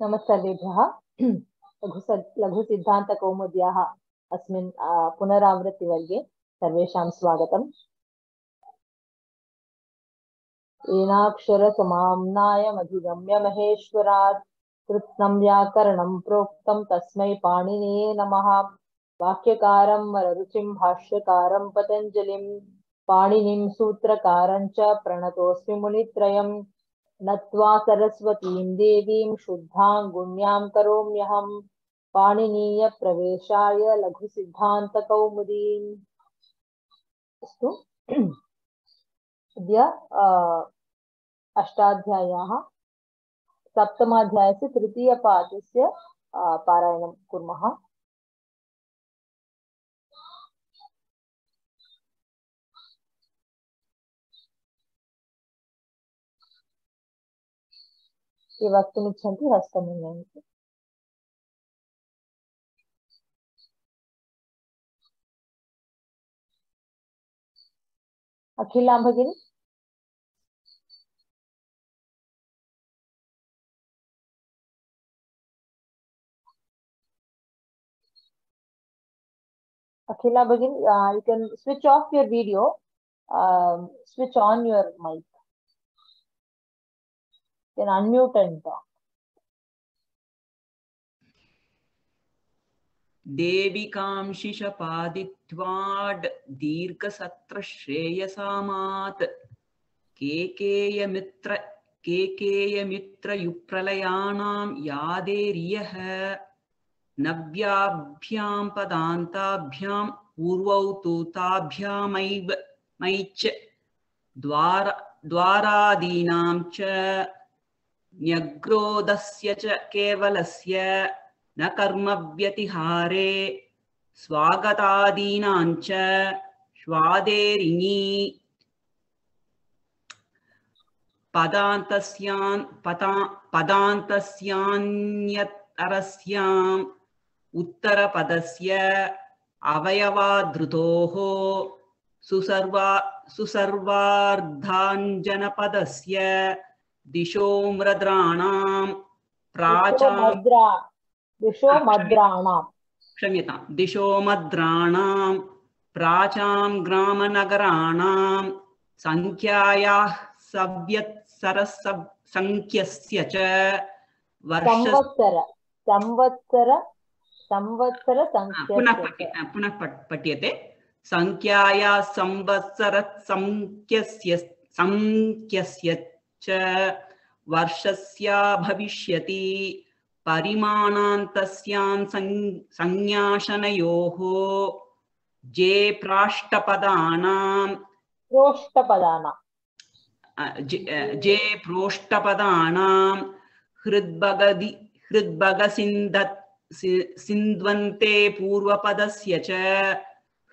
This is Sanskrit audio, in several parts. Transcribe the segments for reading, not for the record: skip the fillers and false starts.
नमस्कारेभ्यः लघुसिद्धान्तकौमुद्याः अस्मिन् पुनरावृत्तिवर्गे सर्वेषां स्वागतम्। येनाक्षरसमाम्नायमधिगम्य महेश्वरात् कृत्स्नं व्याकरणं प्रोक्तं तस्मै पाणिनिये नमः। वाक्यकारं वररुचिं भाष्यकारं पतञ्जलिं पाणिनिं सूत्रकारं च प्रणतोऽस्मि मुनित्रयम्। नत्वा सरस्वतीं देवीं शुद्धां गुण्यां करोम्यहं पाणिनीयप्रवेशाय लघुसिद्धान्तकौमुदीम्। अस्तु, अद्य अष्टाध्याय्याः सप्तमाध्यायस्य तृतीयपाठस्य पारायणं कुर्मः। ये वक्तुमिच्छन्ति हस्तमुन्नयन्तु। अखिला भगिनी, Akhila Bhagin, you can switch off your video, switch on your mic. You can unmute and talk. देविकांशिषपादित्वाड् दीर्घसत्रश्रेयसामात् केकेयमित्रयुप्रलयाणां यादेर्यः नव्याभ्यां पदान्ताभ्यां पूर्वौ तु ताभ्यामैव मैच् द्वारादीनां च न्यग्रोधस्य च केवलस्य न कर्मव्यतिहारे स्वागतादीनां च श्वादेरिणी पदान्तस्यान्यतरस्याम् उत्तरपदस्य अवयवादृतोः सुसर्वार्धाञ्जनपदस्य दिशो मद्राणां प्राचां ग्रामनगराणां संख्यायाः संख्यस्य च पुनः पठ्यते संख्यायाः संख्यस्य च वर्षस्य भविष्यति परिमाणान्तस्यां संज्ञाशनयोः जे प्रोष्टपदानां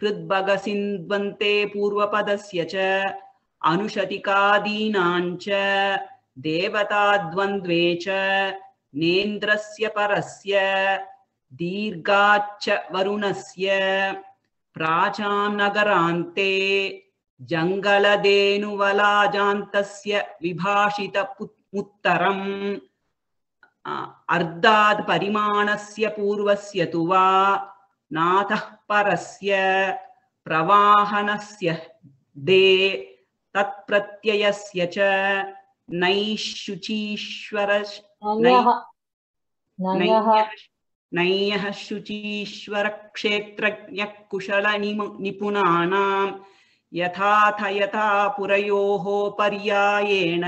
हृद्भगसिन्ध्वन्ते पूर्वपदस्य च अनुशतिकादीनां च देवताद्वन्द्वे च नेन्द्रस्य परस्य दीर्घाच्च वरुणस्य प्राचां नगरान्ते जङ्गलधेनुवलाजान्तस्य विभाषितमुत्तरम् अर्धाद् परिमाणस्य पूर्वस्य तु वा नातः परस्य प्रवाहनस्य दे तत्प्रत्ययस्य च नय्यः शुचीश्वर क्षेत्रज्ञः कुशल निपुणानां यथा पुरयोः पर्यायेण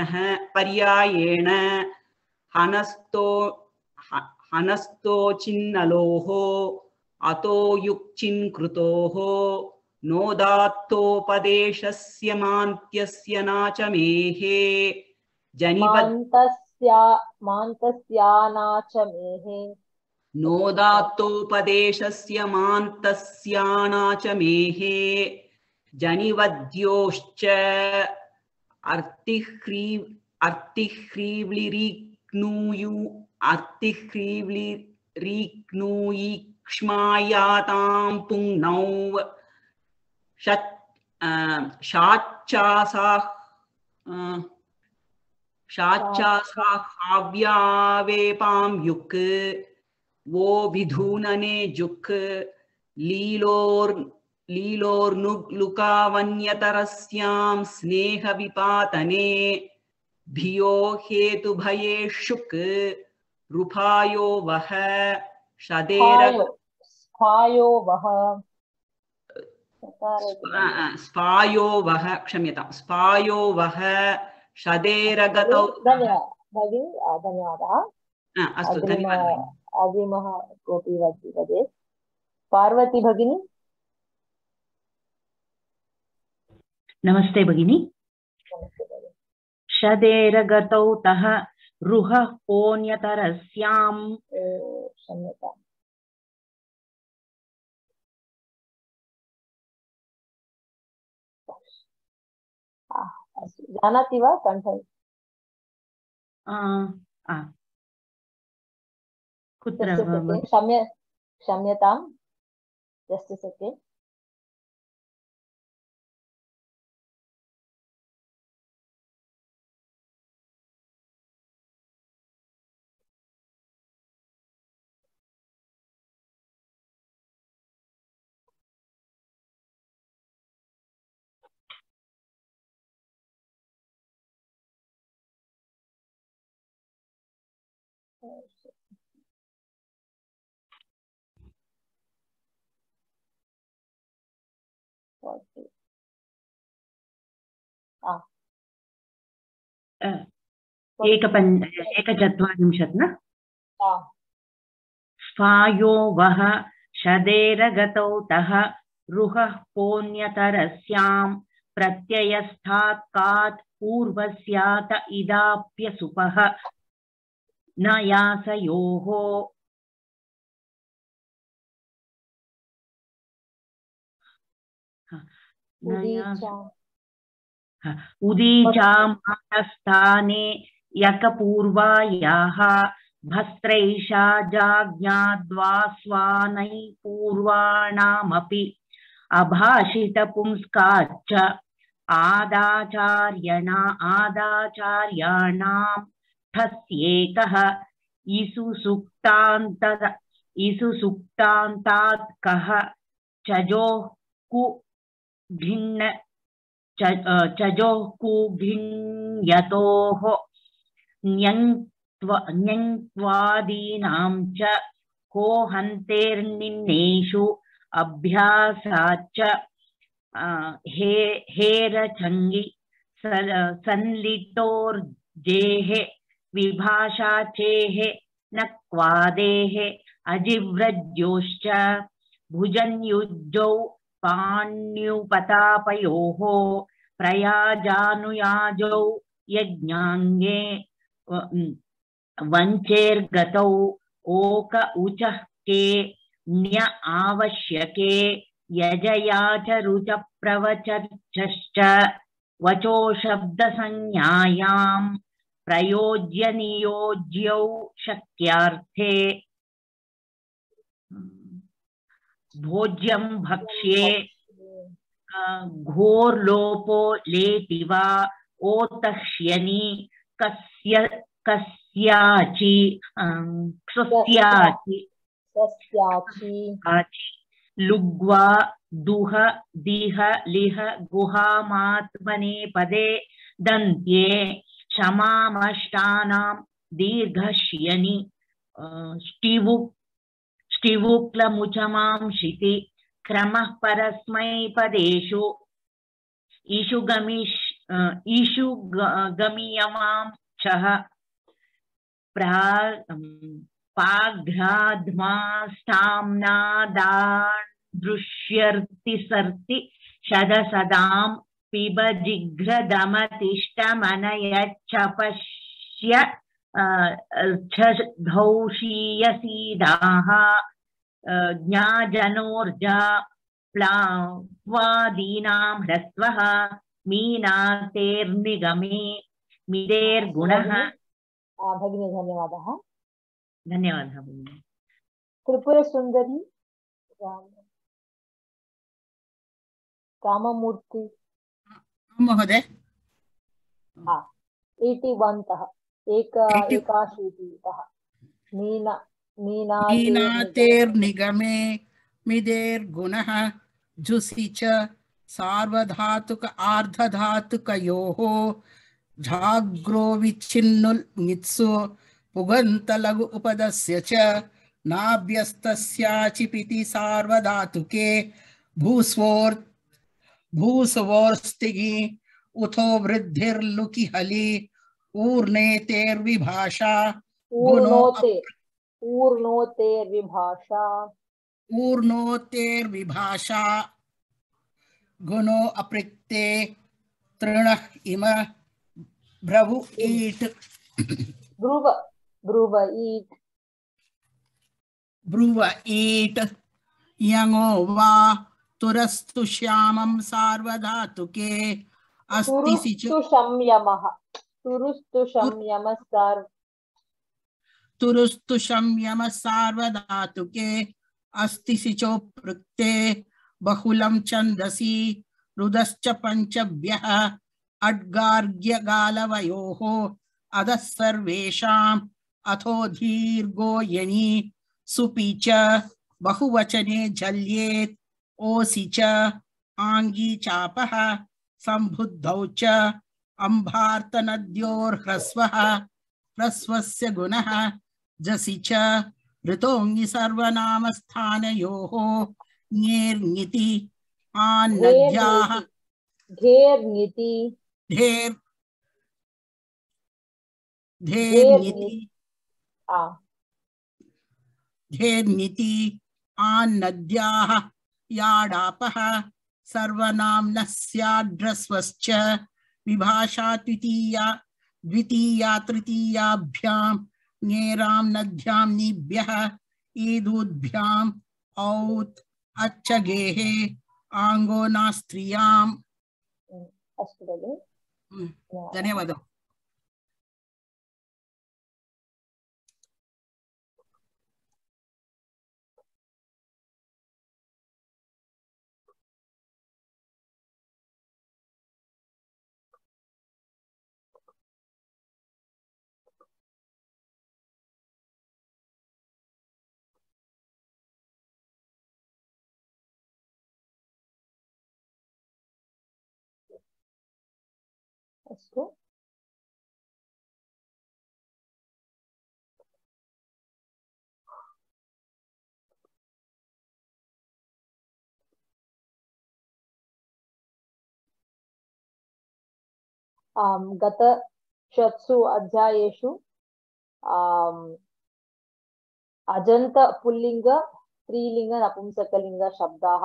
हनस्तो चिन्नलोः अतो युक्चिन्कृतोः नोदात्तोपदेशस्य मान्त्यस्य नाचमेः नोदात्तोपदेशस्य मान्तस्यानाचमेः जनिवद्योश्च अर्तिह्रीव्लिरीक्ष्मायातां पुंनौ शाचासाहाव्यावेपां युक् वो विधूनने जुक् लीलोर्नुलुकावन्यतरस्यां स्नेहविपातने भियो हेतुभयेषुक् रूपायो वह स्फायो वह स्पायो वह क्षम्यतां स्पायो वह शदेरगतौ भगिनी धन्यवादः अस्तु धन्यवादः अग्रिमः कोऽपि वदेत् पार्वती भगिनी नमस्ते भगिनी शदेरगतौ तः रुहः पोन्यतरस्यां क्षम्यताम् जानाति वा कण्ठ कुत्र क्षम्यतां जस्ट् अ सेकेण्ड् एकचत्वारिंशत् न स्फायो वह शदेरगतौ तः रुहः पोन्यतरस्यां प्रत्ययस्थात् कात् पूर्वस्यात इदाप्यसुपः न यासयोः उदीचामानस्थाने यकपूर्वायाः भस्त्रैषा जाज्ञाद्वास्वानै पूर्वाणामपि अभाषितपुंस्काच्च आदाचार्याणां ठस्येकः इसुसुक्तान्तात् कः चजोः कु भिन्न चजोः कुभिन्यतोः न्यङ्त्वादीनां च को हन्तेर्निन्नेषु अभ्यासाच्च हेरचङ्गि संलिटोर्जेः विभाषाचेः न क्वादेः अजिव्रज्योश्च भुजन्युज्जौ पाण्युपतापयोः प्रयाजानुयाजौ यज्ञाङ्गे वञ्चेर्गतौ ओक उचः के न्य आवश्यके यजया च रुच प्रवचश्च वचो शब्दसंज्ञायां प्रयोज्य नियोज्यौ शक्यार्थे भोज्यं भक्ष्ये घोर्लोपो लेति वा ओतह्यनि कस्याचि लुग्वा दुह दिह लिह गुहामात्मने पदे दन्त्ये क्षमामष्टानां दीर्घश्यनि स्टिवुक्लमुचमांशिति क्रमः परस्मैपदेषु ईशुगमियमां छः पाघ्राध्मास्ताम्नादादृश्यर्ति सर्ति शदसदां पिब जिघ्रदमतिष्ठमनयच्छपश्य धौषीयसीदाः ज्ञाजनोर्जा प्लावादीनां ह्रस्वः मीनातेर्निगमे मिदेर्गुणः भगिनी धन्यवादः धन्यवादः भगिनी त्रिपुरसुन्दरी काममूर्ति महोदय 81तः एकाशीतितः नीनातेर्निगमे मिदेर्गुणः जुसि च सार्वधातुक आर्धधातुकयोः झाग्रो विच्छिन्नुल् ङित्सु पुगन्तलघु उपदस्य च नाभ्यस्तस्याचिपिति सार्वधातुके भूस्वोर्स्तिगि उथो वृद्धिर्लुकि हलि ऊर्णेतेर्विभाषा ऊर्णोतेर्विभाषा गुणो अपृक्ते तृणः इम ब्रवु ईट् ब्रुव ईट् यङो वा तुरस्तु श्यामं सार्वधातुके अस्ति सिचो तुरुस्तु संयमः सार्वधातुके अस्ति सिचो पृक्ते बहुलं छन्दसि रुदश्च पञ्चभ्यः अड्गार्ग्यगालवयोः अधः सर्वेषाम् अथो दीर्घो यणि सुपि च बहुवचने झल्येत् ओसि च आङ्गी चापः सम्बुद्धौ च अम्भार्तनद्योर्ह्रस्वः ह्रस्वस्य गुणः जसि च ऋतोङि सर्वनामस्थानयोः ङेर्ङिति आन्नद्याः धेर्निति आन्नद्याः याडापः सर्वनाम्नः स्याद्ह्रस्वश्च विभाषा द्वितीया तृतीयाभ्यां ङेरां नद्यां निभ्यः ईदूद्भ्याम् औत् अच्छगेः आङ्गो नास्त्रियाम्। धन्यवादः। अस्तु, गतषट्सु अध्यायेषु अजन्त पुल्लिंग स्त्रीलिंग नपुंसकलिंग शब्दाः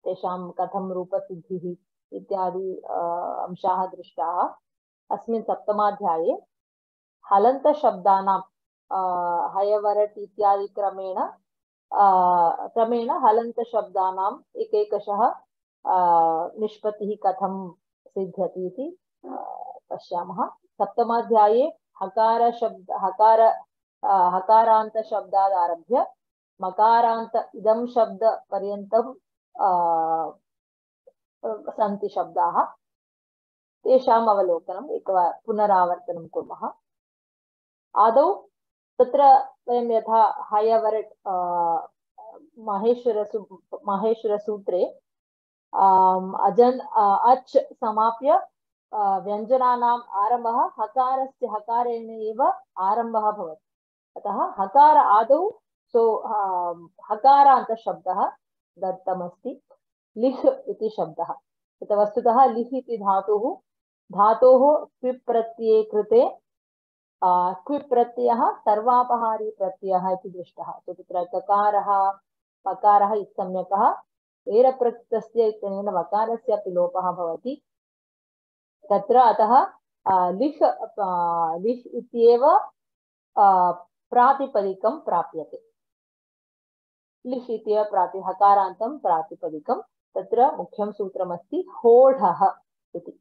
तेषां कथं रूपसिद्धिः इत्यादि अंशाः दृष्टाः। अस्मिन् सप्तमाध्याये हलन्त शब्दानां हयवरट् इत्यादि क्रमेण हलन्त शब्दानां एकैकशः निष्पत्तिः कथं सिद्ध्यति इति पश्यामः। सप्तमाध्याये हकारान्त शब्दात् आरभ्य मकारान्त इदं शब्द पर्यन्तं सन्ति शब्दाः, तेषाम् अवलोकनम् पुनरावर्तनं कुर्मः। आदौ तत्र वयं यथा हयवरट् माहेश्वरसूत्रे अच् समाप्य व्यञ्जनानाम् आरम्भः हकारस्य हकारेण एव आरम्भः भवति। अतः हकार आदौ हकारान्त शब्दः दत्तमस्ति। लिह् इति शब्दः, वस्तुतः लिह् इति धातोः क्विप् प्रत्यये कृते क्विप् प्रत्ययः सर्वापहारी प्रत्ययः इति दृष्टः। तत्र ककारः पकारः इत्सम्यकः एरप्रकृतस्य इत्यनेन वकारस्यापि लोपः भवति तत्र। अतः लिह् इत्येव प्रातिपदिकं प्राप्यते। लिह् इत्येव हकारान्तं प्रातिपदिकं। तत्र मुख्यं सूत्रमस्ति होढः इति।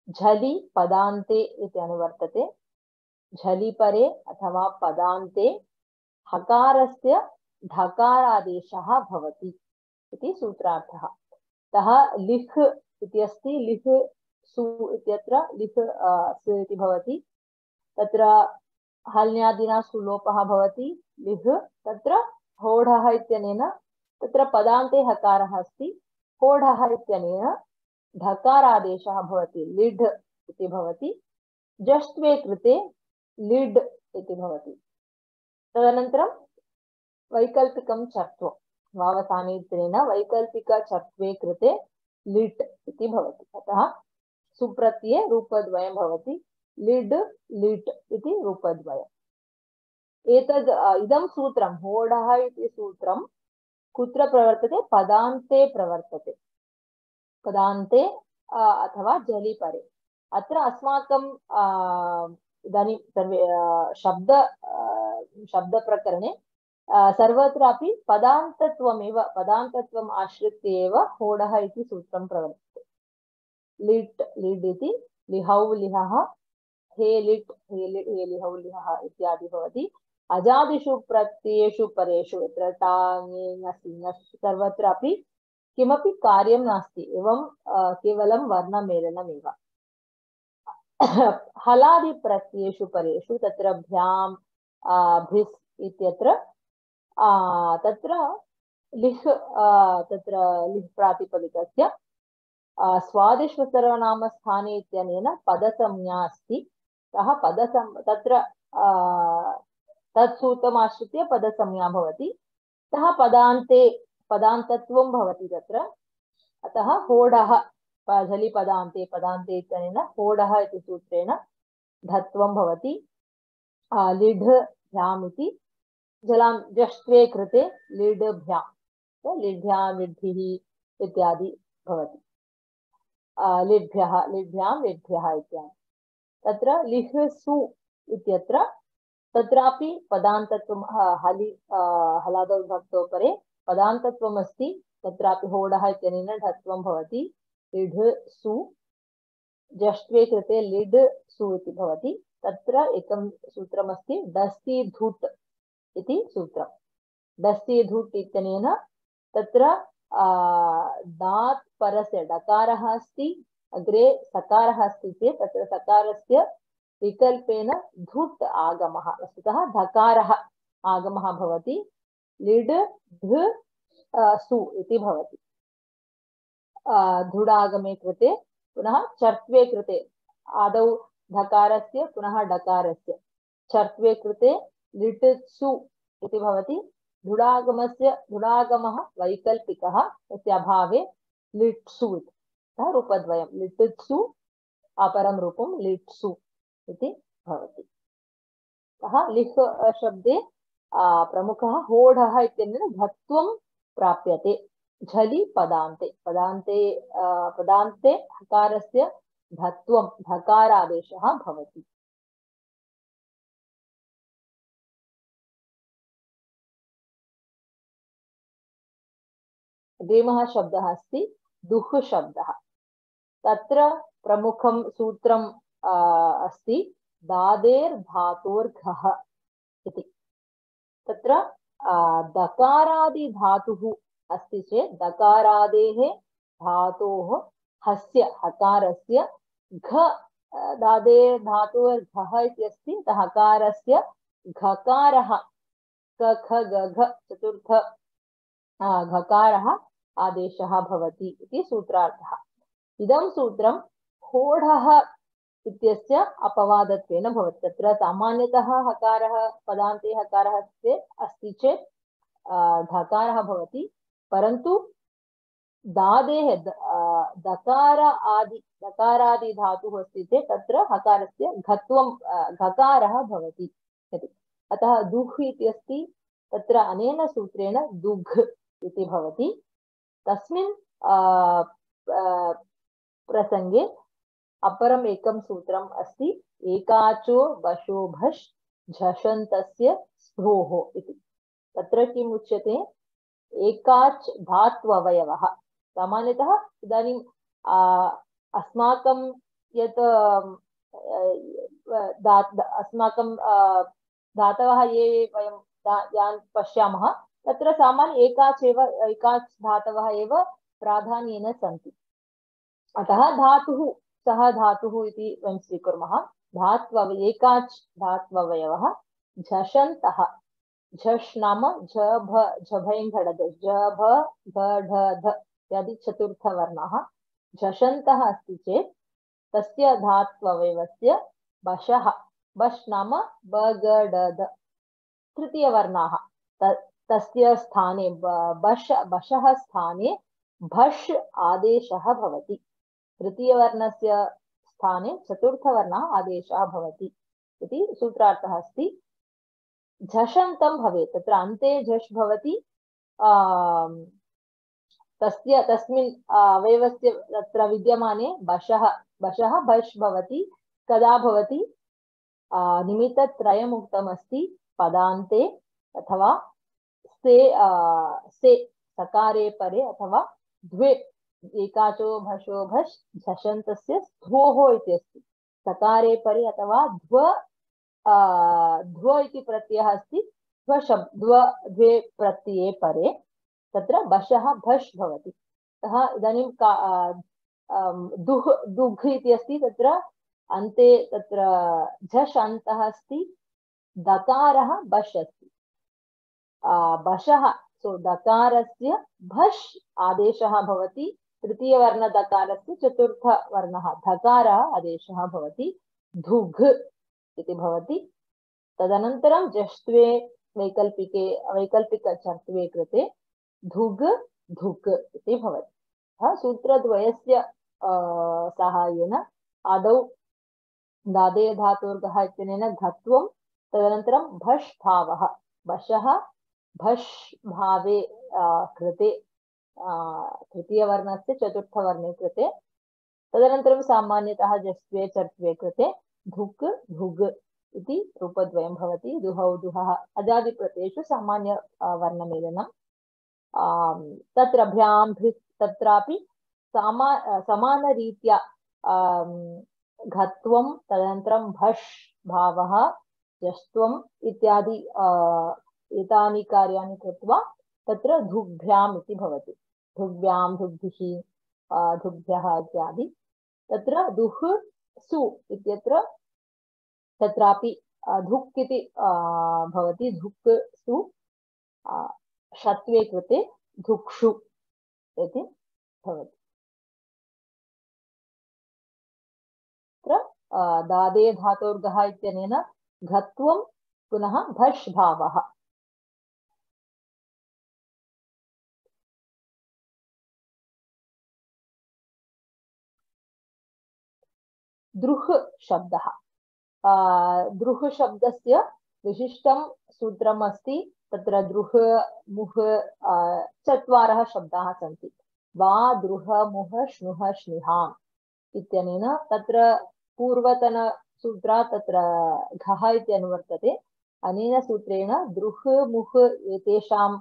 झलि पदान्ते इति अनुवर्तते। झलि परे अथवा पदान्ते हकारस्य ढकारादेशः भवति इति सूत्रार्थः। अतः लिह् इति अस्ति। लिह् सु इत्यत्र लिह् स इति भवति तत्र हल्न्यादिना सुलोपः भवति लिह् तत्र होढः इत्यनेन तत्र पदान्ते हकारः अस्ति होढः इत्यनेन ढकारादेशः भवति लिढ् इति भवति जष्ट्वे कृते लिड् इति भवति तदनन्तरं वैकल्पिकं चर्त्वं वावसाने इत्यनेन वैकल्पिकचर्त्वे कृते लिट् इति भवति अतः सुप्रत्यये रूपद्वयं भवति लिड् लिट् इति रूपद्वयम् एतद् इदं सूत्रं होढः इति सूत्रं कुत्र प्रवर्तते पदान्ते प्रवर्तते पदान्ते अथवा जलिपरे अत्र अस्माकं इदानीं सर्वे शब्दप्रकरणे सर्वत्रापि पदान्तत्वम् आश्रित्य एव होढः इति सूत्रं प्रवर्तते लिट् लिड् इति लिहौ लिहः हे लिट् हे लिट् हे लिहौ लिहः इत्यादि भवति अजादिषु प्रत्ययेषु परेषु यत्र टाङे ङसि ङस् सर्वत्रापि किमपि कार्यं नास्ति एवं केवलं वर्णमेलनमेव हलादिप्रत्ययेषु परेषु तत्र भ्यां भिस् इत्यत्र तत्र लिह् प्रातिपदिकस्य स्वादिष्वसर्वनामस्थाने इत्यनेन पदसंज्ञा अस्ति तत्र तत्सूत्रमाश्रित्य पदसंज्ञा भवति अतः पदान्तत्वं भवति तत्र अतः होढः झलिपदान्ते पदान्ते इत्यनेन होढः इति सूत्रेण धत्वं भवति लिढ् भ्याम् इति जष्ट्वे कृते लिड् भ्याम् लिड्भ्यां लिड्भिः इत्यादि भवति लिड्भ्यः लिड्भ्यां लिड्भ्यः इत्यादि तत्र लिह् सु इत्यत्र तत्रापि पदान्तत्वं हलादौ विभक्तौ परे पदान्तत्वम् अस्ति तत्रापि होढः इत्यनेन ढत्वं भवति लिढ् सु जष्ट्वे कृते लिड् सु इति भवति तत्र एकं सूत्रमस्ति डस्ति धुट् इति सूत्रं डस्ति धुट् इत्यनेन तत्र दात् परस्य डकारः अस्ति अग्रे सकारः अस्ति चेत् तत्र सकारस्य विकल्पेन धुट् आगमः वस्तुतः धकारः आगमः भवति लिड् ध सु इति भवति धुडागमे कृते पुनः चर्त्वे कृते आदौ धकारस्य पुनः डकारस्य चर्त्वे कृते लिट् सु इति भवति धुडागमः वैकल्पिकः तस्य अभावे लिट्सु इति रूपद्वयं लिट्सु अपरं रूपं लिट्सु इति भवति अतः लिह् शब्दे प्रमुखः होढः इत्यनेन धत्वं प्राप्यते झलि पदान्ते हकारस्य धत्वं धकारादेशः भवति अग्रिमः शब्दः अस्ति दुह् शब्दः तत्र प्रमुखं सूत्रम् अस्ति दादेर् धातोर्घः इति तत्र दकारादि धातुः अस्ति चेत् दकारादेः धातोः हस्य हकारस्य घ दादेर् धातोर्घः इत्यस्ति हकारस्य घकारः क ख ग घ चतुर्थ घकारः आदेशः भवति इति सूत्रार्थः इदं सूत्रं होढः इत्यस्य अपवादत्वेन भवति तत्र सामान्यतः हकारः पदान्ते हकारः अस्ति चेत् ढकारः भवति परन्तु दादेः दकारादि धातुः अस्ति चेत् तत्र हकारस्य घत्वं घकारः भवति अतः दुह् इति अस्ति तत्र अनेन सूत्रेण दुघ् इति भवति तस्मिन् प्रसंगे अपरम् एकं सूत्रम् अस्ति एकाचो वशो भष् झषन्तस्य स्भ्रोः इति तत्र किम् उच्यते एकाच् धात्ववयवः सामान्यतः इदानीं अस्माकं यत् अस्माकं धातवः ये वयं यान् पश्यामः तत्र सामान्य एकाच् धातवः एव प्राधान्येन सन्ति अतः धातुः सः धातुः इति वयं स्वीकुर्मः धात्व एकाच् धात्ववयवः झषन्तः झष् नाम झ भ झभैङ्घडद झ भ भ ढ ध इत्यादि चतुर्थवर्णाः झषन्तः अस्ति चेत् तस्य धात्ववयवस्य बशः बश् नाम ब ग ड द तृतीयवर्णाः तस्य स्थाने बशः स्थाने भष् आदेशः भवति तृतीयवर्णस्य स्थाने चतुर्थवर्णः आदेशः भवति इति सूत्रार्थः अस्ति झषन्तं भवेत् तत्र अन्ते झष् भवति तस्मिन् अवयवस्य तत्र विद्यमाने बशः भष् भवति कदा भवति निमित्तत्रयम् उक्तमस्ति पदान्ते अथवा से सकारे परे अथवा द्वे एकाचो भषो भष् झषन्तस्य स्थोः इति अस्ति सकारे परे अथवा ध्व इति प्रत्ययः अस्ति द्वे प्रत्यये परे तत्र बशः भष् भवति अतः इदानीं दुघ् इति अस्ति तत्र अन्ते तत्र झष् अन्तः अस्ति दकारः बश् अस्ति बशः सो दकारस्य भष् आदेशः भवति तृतीयवर्णदकारस्य चतुर्थवर्णः धकारः आदेशः भवति धुघ् इति भवति तदनन्तरं जष्ट्वे वैकल्पिकचर्त्वे कृते धुग् धुक् इति भवति सूत्रद्वयस्य साहाय्येन आदौ दादे धातोर्गः इत्यनेन घत्वं तदनन्तरं भष् भावः बशः भष् भावे कृते तृतीयवर्णस्य चतुर्थवर्णे कृते तदनन्तरं सामान्यतः जस्त्वे चर्त्वे कृते धुक् धुग् इति रूपद्वयं भवति दुहौ दुहः अजादिप्रत्ययेषु सामान्य वर्णमेलनं तत्र भ्यां तत्रापि समानरीत्या घत्वं तदनन्तरं भष् भावः जष्ट्वम् इत्यादि एतानि कार्याणि कृत्वा तत्र धुग्भ्याम् इति भवति धुग्भ्यां धुग्भिः धुग्भ्यः इत्यादि तत्र दुह् सु इत्यत्र तत्रापि धुक् इति भवति धुक् सु षत्वे कृते धुक्षु इति भवति तत्र दादे धातोर्गः इत्यनेन घत्वं पुनः भष् भावः द्रुह् शब्दः द्रुह् शब्दस्य विशिष्टं सूत्रम् अस्ति तत्र द्रुह् मुह् चत्वारः शब्दाः सन्ति वा द्रुह मुह श्नुः श्निहाम् इत्यनेन तत्र पूर्वतनसूत्रात् तत्र घः इति अनुवर्तते अनेन सूत्रेण द्रुह् मुह् एतेषां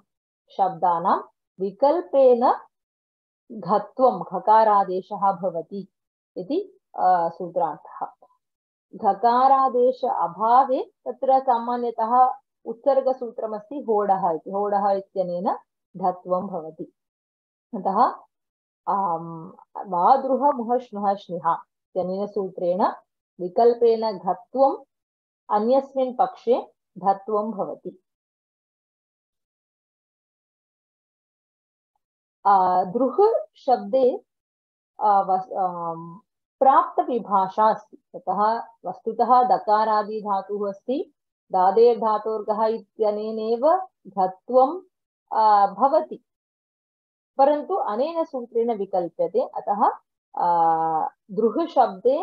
शब्दानां विकल्पेन घत्वं घकारादेशः भवति इति सूत्रार्थः घकारादेश अभावे तत्र सामान्यतः उत्सर्गसूत्रमस्ति होडः इति होडः इत्यनेन घत्वं भवति अतः वा द्रुह मुह श्नुः श्निहा इत्यनेन सूत्रेण विकल्पेन घत्वम् अन्यस्मिन् पक्षे घत्वं भवति द्रुह् शब्दे प्राप्त विभाषा अस्ति ततः वस्तुतः दकारादि धातुः अस्ति दादे धातोर्गः इत्यनेनैव घत्वं भवति परन्तु अनेन सूत्रेण विकल्प्यते अतः द्रुह् शब्दे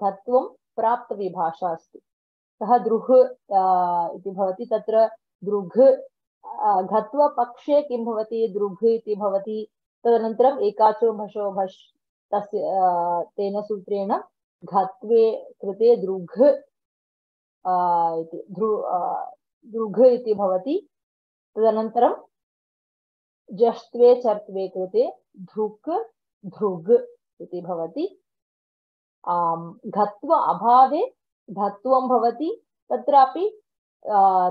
घत्वं प्राप्त विभाषा अस्ति सः द्रुह् इति भवति तत्र दृघ् घत्वपक्षे किं भवति दृघ् इति भवति तदनन्तरम् एकाचो भषो भष् तस्य तेन सूत्रेण घत्वे कृते दृघ् इति दृघ् इति भवति तदनन्तरं जष्ट्वे चर्त्वे कृते धृक् धृग् इति भवति घत्व अभावे घत्वं भवति तत्रापि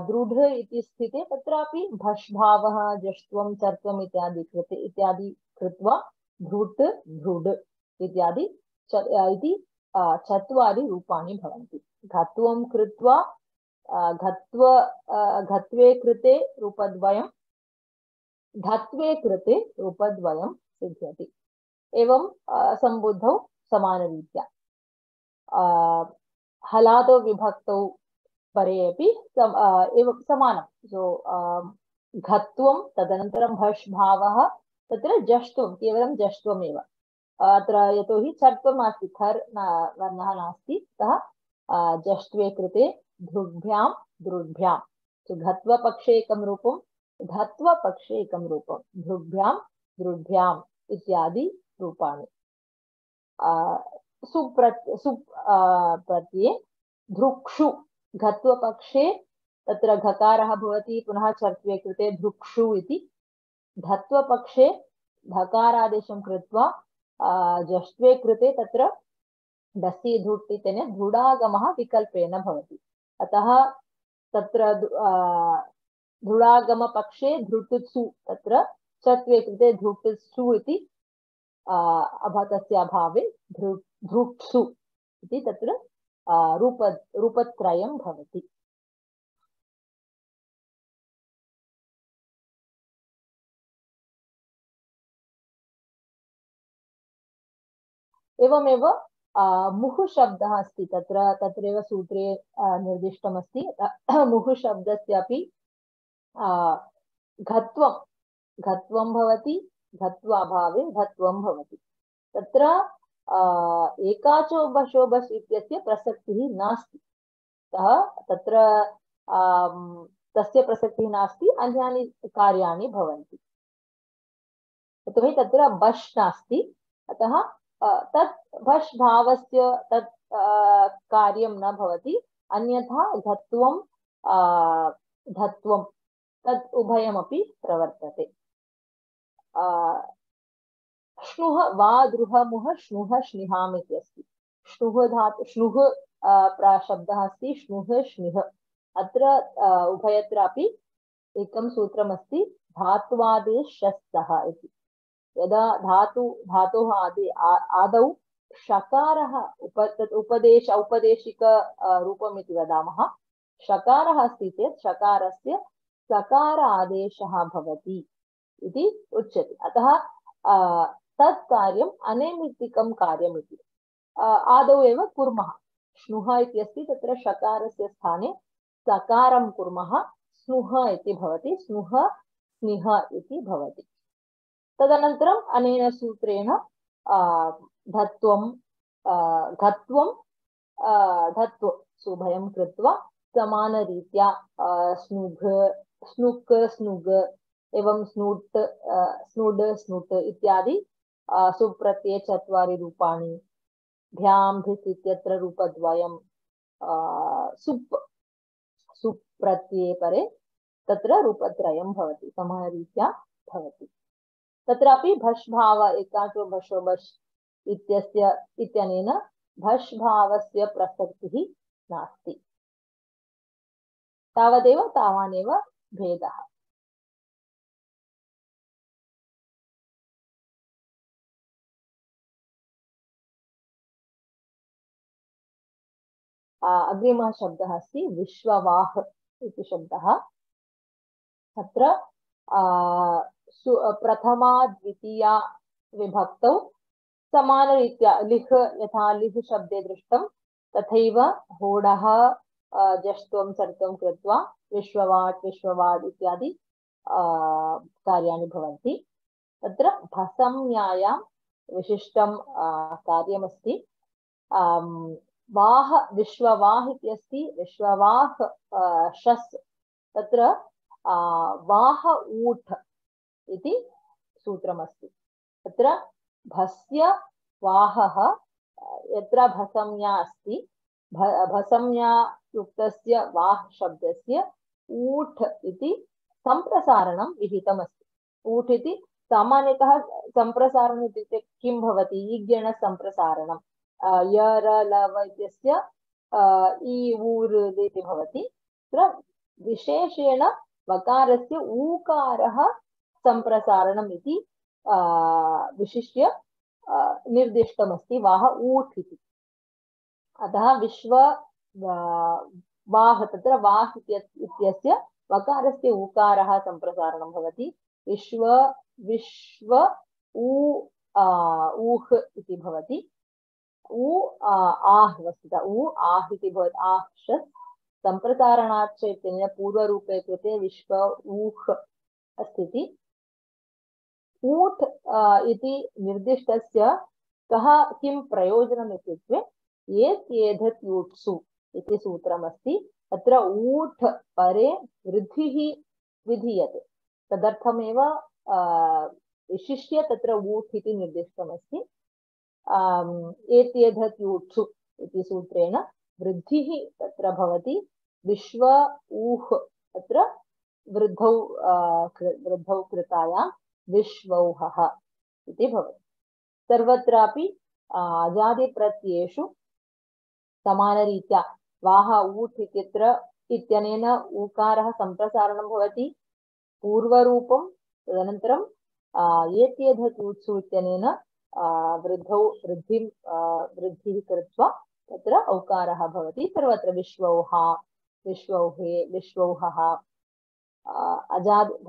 दृढ इति स्थिते तत्रापि भष् भावः जष्ट्वं चर्त्वम् इत्यादि कृत्वा धृट् धृड् इत्यादि इति चत्वारि रूपाणि भवन्ति। घत्वं कृत्वा घत्वे कृते रूपद्वयं, धत्वे कृते रूपद्वयं सिद्ध्यति। एवं सम्बुद्धौ समानरीत्या हलादौ विभक्तौ परे अपि एवं समानं। सो घत्वं तदनन्तरं भष् भावः, तत्र जष्ट्वं, केवलं जष्ट्वमेव अत्र, यतोहि चर्त्वं नास्ति, खर् वर्णः नास्ति, अतः जष्ट्वे कृते धृग्भ्यां दृढ्भ्यां। सो घत्वपक्षे एकं रूपं, धत्वपक्षे एकं रूपं, धृग्भ्यां दृढ्भ्याम् इत्यादि रूपाणि। प्रत्यये धृक्षु, घत्वपक्षे तत्र घकारः भवति, पुनः चर्त्वे कृते धृक्षु इति। धत्वपक्षे धकारादेशं कृत्वा जष्ट्वे कृते तत्र दसि धुट् इत्यनेन धुडागमः विकल्पेन भवति। अतः तत्र धुडागमपक्षे धृटुत्सु, तत्र चत्वे कृते धृटुत्सु इति तस्य अभावे धृक्षु इति तत्र रूपत्रयं भवति। एवमेव मुहुः शब्दः अस्ति, तत्रैव सूत्रे निर्दिष्टमस्ति। मुहुः शब्दस्यापि घत्वं भवति, घत्वाभावे धत्वं भवति। तत्र एकाचो बशो बस् इत्यस्य प्रसक्तिः नास्ति, तत्र तस्य प्रसक्तिः नास्ति, अन्यानि कार्याणि भवन्ति। यतोहि तत्र बश् नास्ति, अतः तत् भष् भावस्य तत् कार्यं न भवति। अन्यथा घत्वं धत्वं तत् उभयमपि प्रवर्तते। श्नुः वा द्रुहमुः श्नुः श्निहाम् इति अस्ति। श्नुः धातु, श्नुः शब्दः अस्ति, श्नुः श्निः। अत्र उभयत्रापि एकं सूत्रमस्ति, धात्वादेशस्तः इति। यदा धातोः आदौ षकारः औपदेशिक रूपम् इति वदामः, षकारः अस्ति चेत् षकारस्य सकार आदेशः भवति इति उच्यते। अतः तत् कार्यम् अनैमित्तिकं कार्यम् इति आदौ एव कुर्मः। श्नुः इति अस्ति, तत्र षकारस्य स्थाने सकारं कुर्मः, स्नुः इति भवति, स्नुः स्निः इति भवति। तदनन्तरम् अनेन सूत्रेण धत्वं घत्वं धत्व सुभयं कृत्वा समानरीत्या स्नुघ स्नुक् स्नुग एवं स्नुट् स्नुड् स्नुट् इत्यादि सुप्रत्यये चत्वारि रूपाणि। भ्यां धिस् इत्यत्र रूपद्वयं, सुप् प्रत्यये परे तत्र रूपत्रयं भवति, समानरीत्या भवति। तत्रापि भष् भाव एकाचो भषो भष् इत्यनेन भष् भावस्य प्रसक्तिः नास्ति। तावदेव, तावानेव भेदः। अग्रिमः शब्दः अस्ति विश्ववाह इति शब्दः। तत्र प्रथमा द्वितीया विभक्तौ समानरीत्या लिह्, यथा लिह् शब्दे दृष्टं तथैव होडः जष्ट्वं सर्त्वं कृत्वा विश्ववाट् विश्ववाड् इत्यादि कार्याणि भवन्ति। तत्र भसंज्ञायां विशिष्टं कार्यमस्ति। वाह विश्ववाह इति अस्ति, विश्ववाह शस्, तत्र वाह ऊठ इति सूत्रमस्ति। तत्र भस्य वाहः, यत्र भसंज्ञा अस्ति, भसंज्ञा युक्तस्य वाह शब्दस्य ऊठ इति सम्प्रसारणं विहितमस्ति। ऊठ इति सामान्यतः सम्प्रसारणम् इत्युक्ते किं भवति? ईगण सम्प्रसारणं। यर लव इत्यस्य इ ऊर् इति भवति। तत्र विशेषेण वकारस्य ऊकारः सम्प्रसारणम् इति विशिष्य निर्दिष्टमस्ति वाह ऊठ् इति। अतः विश्व वाह तत्र वाह् इत्यस्य वकारस्य ऊकारः सम्प्रसारणं भवति। विश्व विश्व ऊह् इति भवति। आह् वस्तुतः आह् इति भवति। आह् सम्प्रसारणाच्च इत्यनेन पूर्वरूपे कृते विश्व ऊह् अस्ति। ऊठ् इति निर्दिष्टस्य किं प्रयोजनम् इत्युक्ते एत्येधत् यूट्सु इति सूत्रमस्ति। तत्र ऊठ् परे वृद्धिः विधीयते, तदर्थमेव विशिष्य तत्र ऊठ् इति निर्दिष्टमस्ति। एत्येधत् यूट्सु इति सूत्रेण वृद्धिः तत्र भवति। विश्व ऊह् तत्र वृद्धौ कृतायां विश्वौहः इति भवति। सर्वत्रापि अजादिप्रत्ययेषु समानरीत्या वाह ऊठ् इत्यनेन ऊकारः सम्प्रसारणं भवति पूर्वरूपं, तदनन्तरं एत्येधत् यूत्सु इत्यनेन वृद्धिः कृत्वा तत्र औकारः भवति। सर्वत्र विश्वौहा, विश्वौहे, विश्वौहः।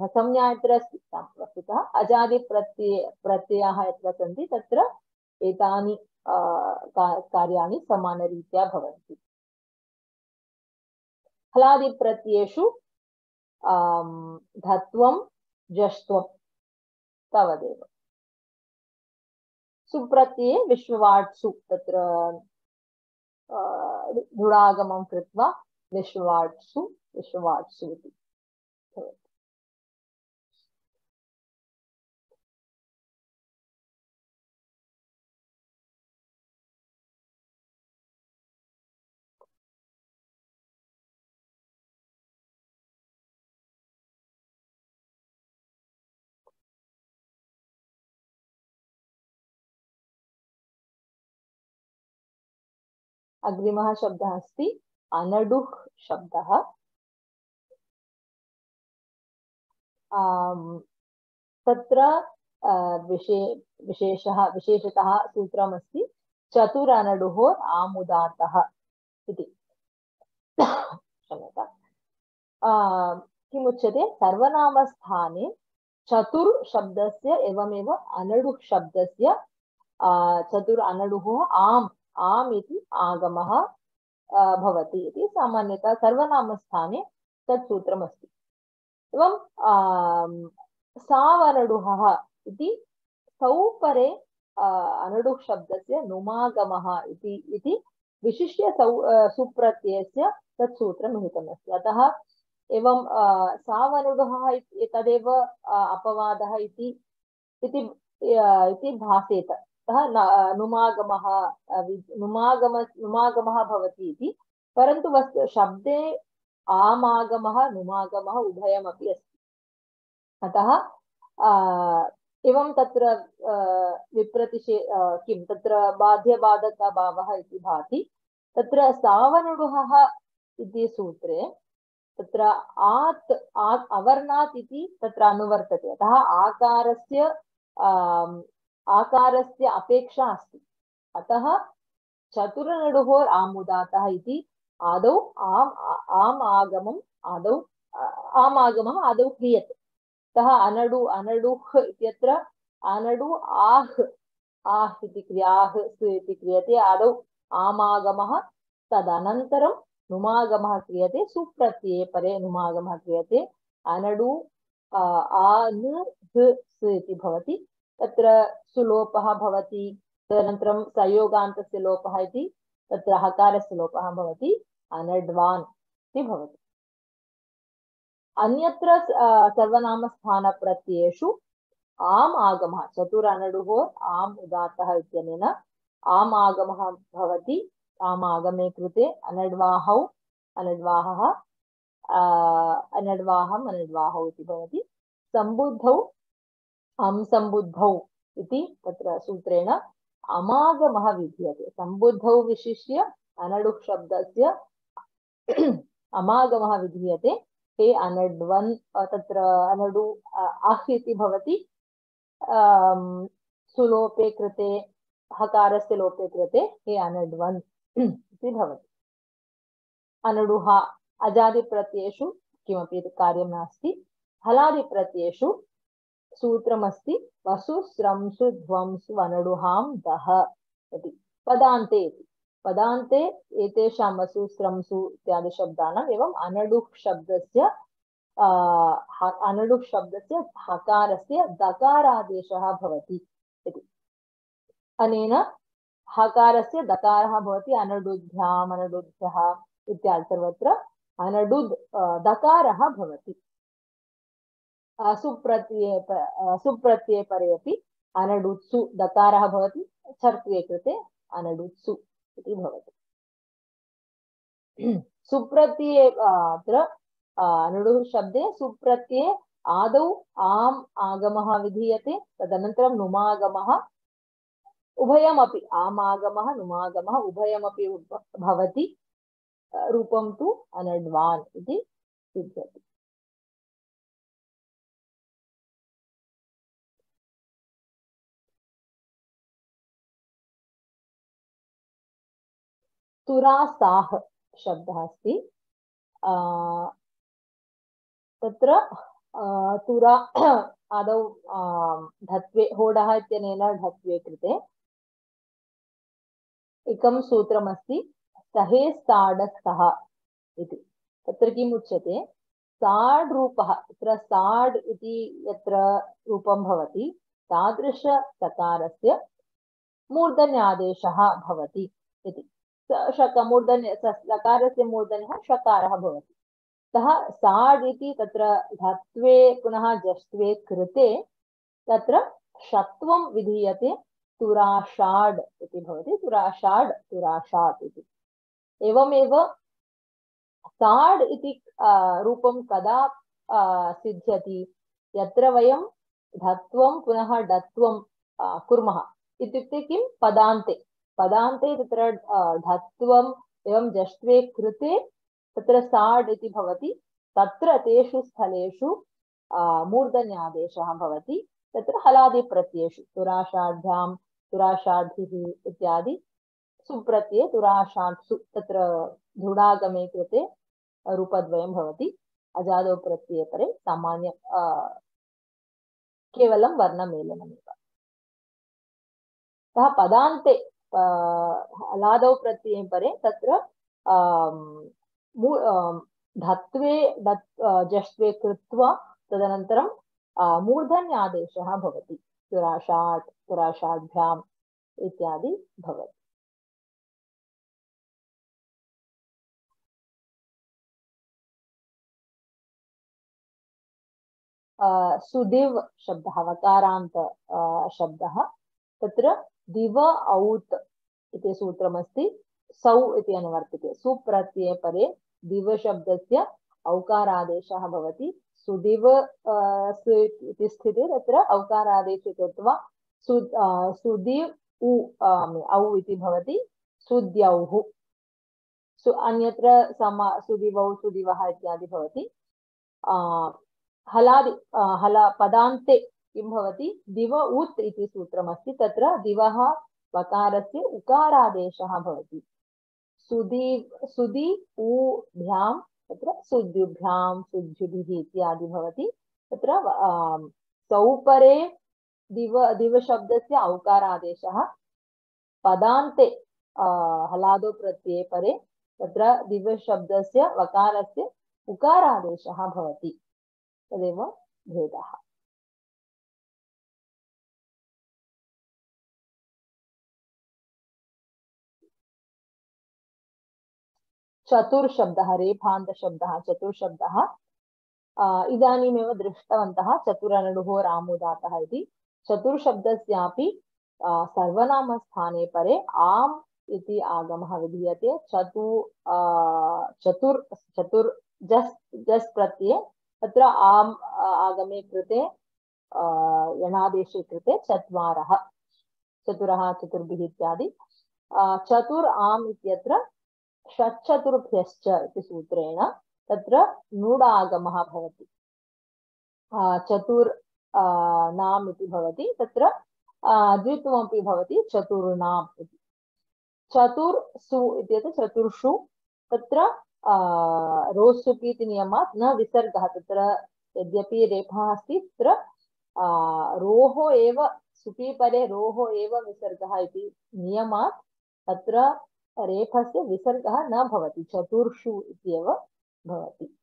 संज्ञा यत्र अस्ति वस्तुतः अजादिप्रत्ययाः यत्र सन्ति तत्र एतानि कार्याणि समानरीत्या भवन्ति। हलादिप्रत्ययेषु धत्वं जष्ट्वं तावदेव। सुप्रत्यये विश्ववाट्सु तत्र दृढागमं कृत्वा विश्ववाट्सु इति। अग्रिमः शब्दः अस्ति अनडुः शब्दः। तत्र विशेषतः सूत्रमस्ति चतुरनडुः आमुदातः इति। क्षम्यताम्। किमुच्यते? सर्वनामस्थाने चतुर् शब्दस्य एवमेव अनडुः शब्दस्य चतुर् अनडुः आम् इति आगमः भवति इति सामान्यतः सर्वनामस्थाने तत् सूत्रमस्ति। एवं सावनडुहः इति सौ परे अनडुः शब्दस्य नुमागमः इति विशिष्य सुप्रत्ययस्य तत् सूत्रं निहितमस्ति। अतः एवं सावनडुहः तदेव अपवादः इति भासेत। अतः नुमागमः भवति इति, परन्तु शब्दे आमागमः नुमागमः उभयमपि अस्ति। अतः एवं तत्र किं तत्र बाध्यबाधकभावः इति भाति। तत्र सावनडुहः इति सूत्रे तत्र अवर्णात् इति तत्र अनुवर्तते। अतः आकारस्य अपेक्षा अस्ति। अतः चतुरनडुः आमुदातः इति आदौ आमागमम् आदौ क्रियते। अतः अनडुः इत्यत्र अनडु आह् इति क्रियते। आदौ आमागमः, तदनन्तरं नुमागमः क्रियते। सुप्रत्यये परे नुमागमः क्रियते। अनडु इति भवति। तत्र सुलोपः भवति, तदनन्तरं संयोगान्तस्य लोपः इति तत्र हकारस्य लोपः भवति। अनड्वान् इति भवति। अन्यत्र सर्वनामस्थानप्रत्ययेषु आम् आगमः चतुरनडुः आम् उदात्तः इत्यनेन आम् आगमः भवति। आम् आगमे कृते अनड्वाहौ अनड्वाहः अनड्वाहम् अनड्वाहौ इति भवति। सम्बुद्धौ संबुद्धौ इति तत्र सूत्रेण अमागमः विधीयते। सम्बुद्धौ विशिष्य अनडुः शब्दस्य अमागमः विधीयते। हे अनड्वन् तत्र अनडु अह् इति भवति। सुलोपे कृते हकारस्य लोपे कृते हे अनड्वन् इति भवति। अनडुः अजादिप्रत्ययेषु किमपि कार्यं नास्ति। हलादिप्रत्ययेषु सूत्रमस्ति वसु स्रंसु ध्वंसु अनडुहां दः इति। पदान्ते पदान्ते एतेषां वसु स्रंसु इत्यादि शब्दानाम् एवं अनडुः शब्दस्य हकारस्य दकारादेशः भवति इति। अनेन हकारस्य दकारः भवति अनडुभ्याम् अनडुभ्यः इत्यादि सर्वत्र अनडुद् दकारः भवति। सुप्रत्यये परे अपि अनडुत्सु दकारः भवति। छर्त्वे कृते अनडुत्सु इति भवति। सुप्रत्यये अत्र अनडुः शब्दे सुप्रत्यये आदौ आम् आगमः विधीयते, तदनन्तरं नुमागमः उभयमपि आमागमः नुमागमः उभयमपि भवति। रूपं तु अनड्वान् इति सिद्ध्यति। तुरासाः शब्दः अस्ति। तत्र तुरा आदौ धत्वे होडः इत्यनेन धत्वे कृते एकं सूत्रमस्ति सहे साडस्थः इति। तत्र किम् उच्यते, साड् रूपः, तत्र साड् इति यत्र रूपं भवति तादृश सकारस्य मूर्धन्यादेशः भवति इति। लकारस्य मूर्धन्यः षकारः भवति। अतः साड् इति तत्र धत्वे पुनः जष्ट्वे कृते तत्र षत्वं विधीयते, तुराषाड् इति भवति। तुराषाड् तुराषात् इति। एवमेव साड् इति रूपं कदा सिद्ध्यति, यत्र वयं धत्वं पुनः डत्वं कुर्मः इत्युक्ते किं, पदान्ते तत्र धत्वम् एवं जष्ट्वे कृते तत्र साड् इति भवति। तत्र तेषु स्थलेषु मूर्धन्यादेशः भवति। तत्र हलादिप्रत्ययेषु तुराषाढ्यां तुराषाढिः इत्यादि सुप्रत्यये तुराषाट्सु तत्र दृढागमे कृते रूपद्वयं भवति। अजादौ प्रत्यये परे सामान्य केवलं वर्णमेलनमेव। अतः पदान्ते हलादौ प्रत्यये परे तत्र धत्वे जष्ट्वे कृत्वा तदनन्तरं मूर्धन्यादेशः भवति। तुराषाट् तुराषाढ्याम् इत्यादि भवति। सुदिव् शब्दः वकारान्त शब्दः। तत्र दिव औत् इति सूत्रमस्ति। सौ इति अनुवर्तते। सुप्रत्यये परे दिव शब्दस्य औकारादेशः भवति। सुदिव इति स्थिते तत्र औकारादेशे कृत्वा सुदिव् औ इति भवति। सुद्यौः अन्यत्र सुदिवौ सुदिवः इत्यादि भवति। पदान्ते किं भवति, दिव उत् इति सूत्रमस्ति। तत्र दिवः वकारस्य उकारादेशः भवति। सुदि ऊभ्यां तत्र सुद्युभ्यां सुद्युभिः इत्यादि भवति। तत्र सौपरे दिव शब्दस्य औकारादेशः, पदान्ते हलादो प्रत्यये परे तत्र दिव शब्दस्य वकारस्य उकारादेशः भवति। तदेव भेदः। चतुर्शब्दः रेफान्तशब्दः चतुर्शब्दः इदानीमेव दृष्टवन्तः चतुरनडुः रामुदातः इति। चतुर्शब्दस्यापि सर्वनामस्थाने परे आम् इति आगमः विधीयते। चतुर् जस् प्रत्यये तत्र आम् आगमे कृते यणादेशे कृते चत्वारः चतुरः चतुर्भिः इत्यादि। चतुर् आम् इत्यत्र षट्चतुर्भ्यश्च इति सूत्रेण तत्र नुडागमः भवति। चतुर् नाम् इति भवति। तत्र द्वित्वमपि भवति चतुर्णाम् इति। चतुर्सु इत्येतत् चतुर्षु तत्र रोस्सुपि इति नियमात् न विसर्गः, तत्र यद्यपि रेफः अस्ति तत्र रोः एव सुपि परे रोः एव विसर्गः इति नियमात् तत्र रेफस्य विसर्गः न भवति, चतुर्षु इत्येव भवति।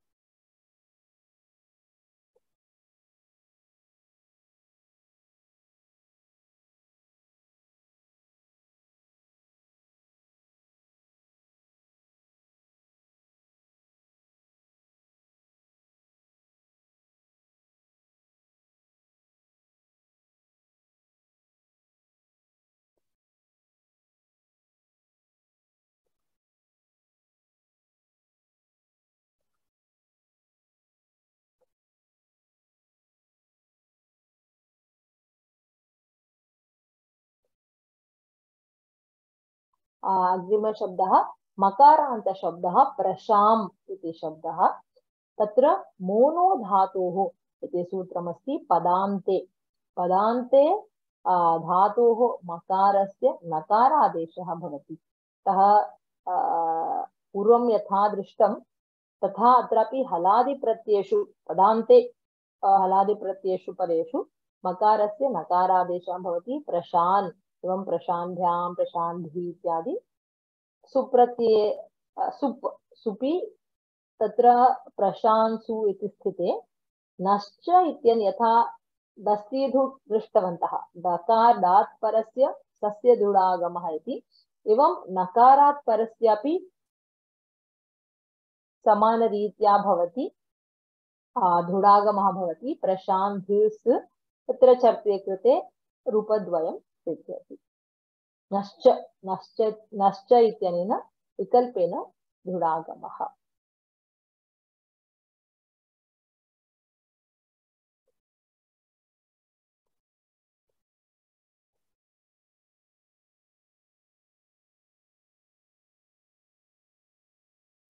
अग्रिमशब्दः मकारान्तशब्दः प्रशाम् इति शब्दः। तत्र मोनो धातोः इति सूत्रमस्ति पदान्ते। पदान्ते धातोः मकारस्य नकारादेशः भवति। अतः पूर्वं यथा दृष्टं तथा अत्रापि हलादिप्रत्ययेषु पदान्ते हलादिप्रत्ययेषु परेषु मकारस्य नकारादेशः भवति। प्रशान् एवं प्रशान्ध्यां प्रशान्धी इत्यादि सुप्रत्यये सुपि तत्र प्रशान्सु इति स्थिते नश्च इत्यन् यथा दस्तीधु दृष्टवन्तः, दकार दात् परस्य सस्य दुडागमः इति, एवं नकारात् परस्यापि समानरीत्या भवति धुडागमः भवति। प्रशान्धिस् तत्र चर्त्वे कृते रूपद्वयं सिद्ध्यति। नश्च नश्च नश्च इत्यनेन विकल्पेन धुडागमः।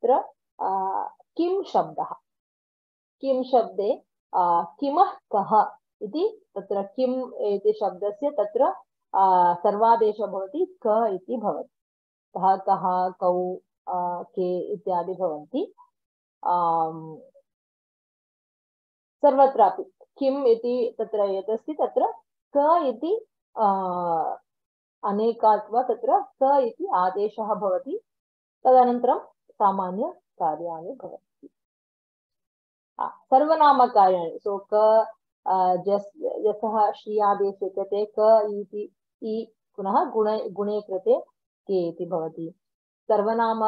तत्र किं शब्दः, किं शब्दे किमः कः इति, तत्र किम् इति शब्दस्य तत्र सर्वादेशः भवति क इति भवति। कः कः कौ के इत्यादि भवन्ति। सर्वत्रापि किम् इति तत्र यदस्ति तत्र क इति अनेकात्वा तत्र क इति आदेशः भवति। तदनन्तरं सामान्यकार्याणि भवन्ति। सर्वनामकार्याणि सो क यतः श्री आदेशे कृते क इति इ पुनः गुणे कृते के इति भवति। सर्वनाम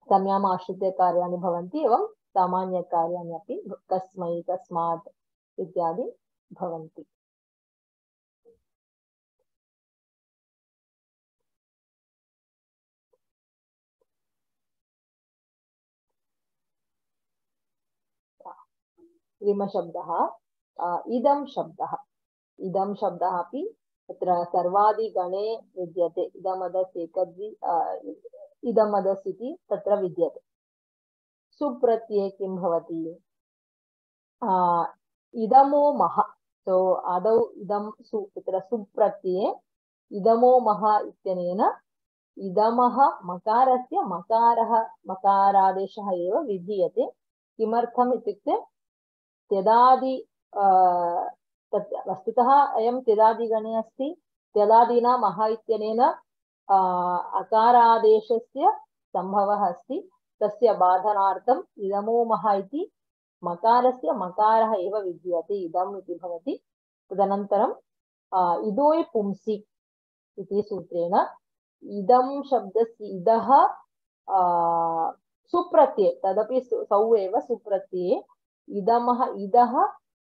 संज्ञाम् आश्रित्य कार्याणि भवन्ति एवं सामान्यकार्याणि अपि कस्मै कस्मात् इत्यादि भवन्ति। अग्रिमशब्दः इदं शब्दः। इदं शब्दः अपि तत्र सर्वादिगणे विद्यते। इदमदस् एकद्वि इदमदस् इति तत्र विद्यते। सुप्रत्यये किं भवति? इदमो मह। सो आदौ इदं सु तत्र सुप्रत्यये इदमो मह इत्यनेन इदमः मकारस्य मकारादेशः एव विधीयते। किमर्थम् इत्युक्ते त्यदादि वस्तुतः अयं त्यदादिगणे अस्ति। त्यदादिना मह इत्यनेन अकारादेशस्य सम्भवः अस्ति। तस्य बाधनार्थम् इदमो मह इति मकारस्य मकारः एव विधीयते, इदम् इति भवति। तदनन्तरं इदोयि पुंसि इति सूत्रेण इदं शब्दस्य इदः सुप्रत्यये, तदपि सौ एव सुप्रत्यये इदमः इदः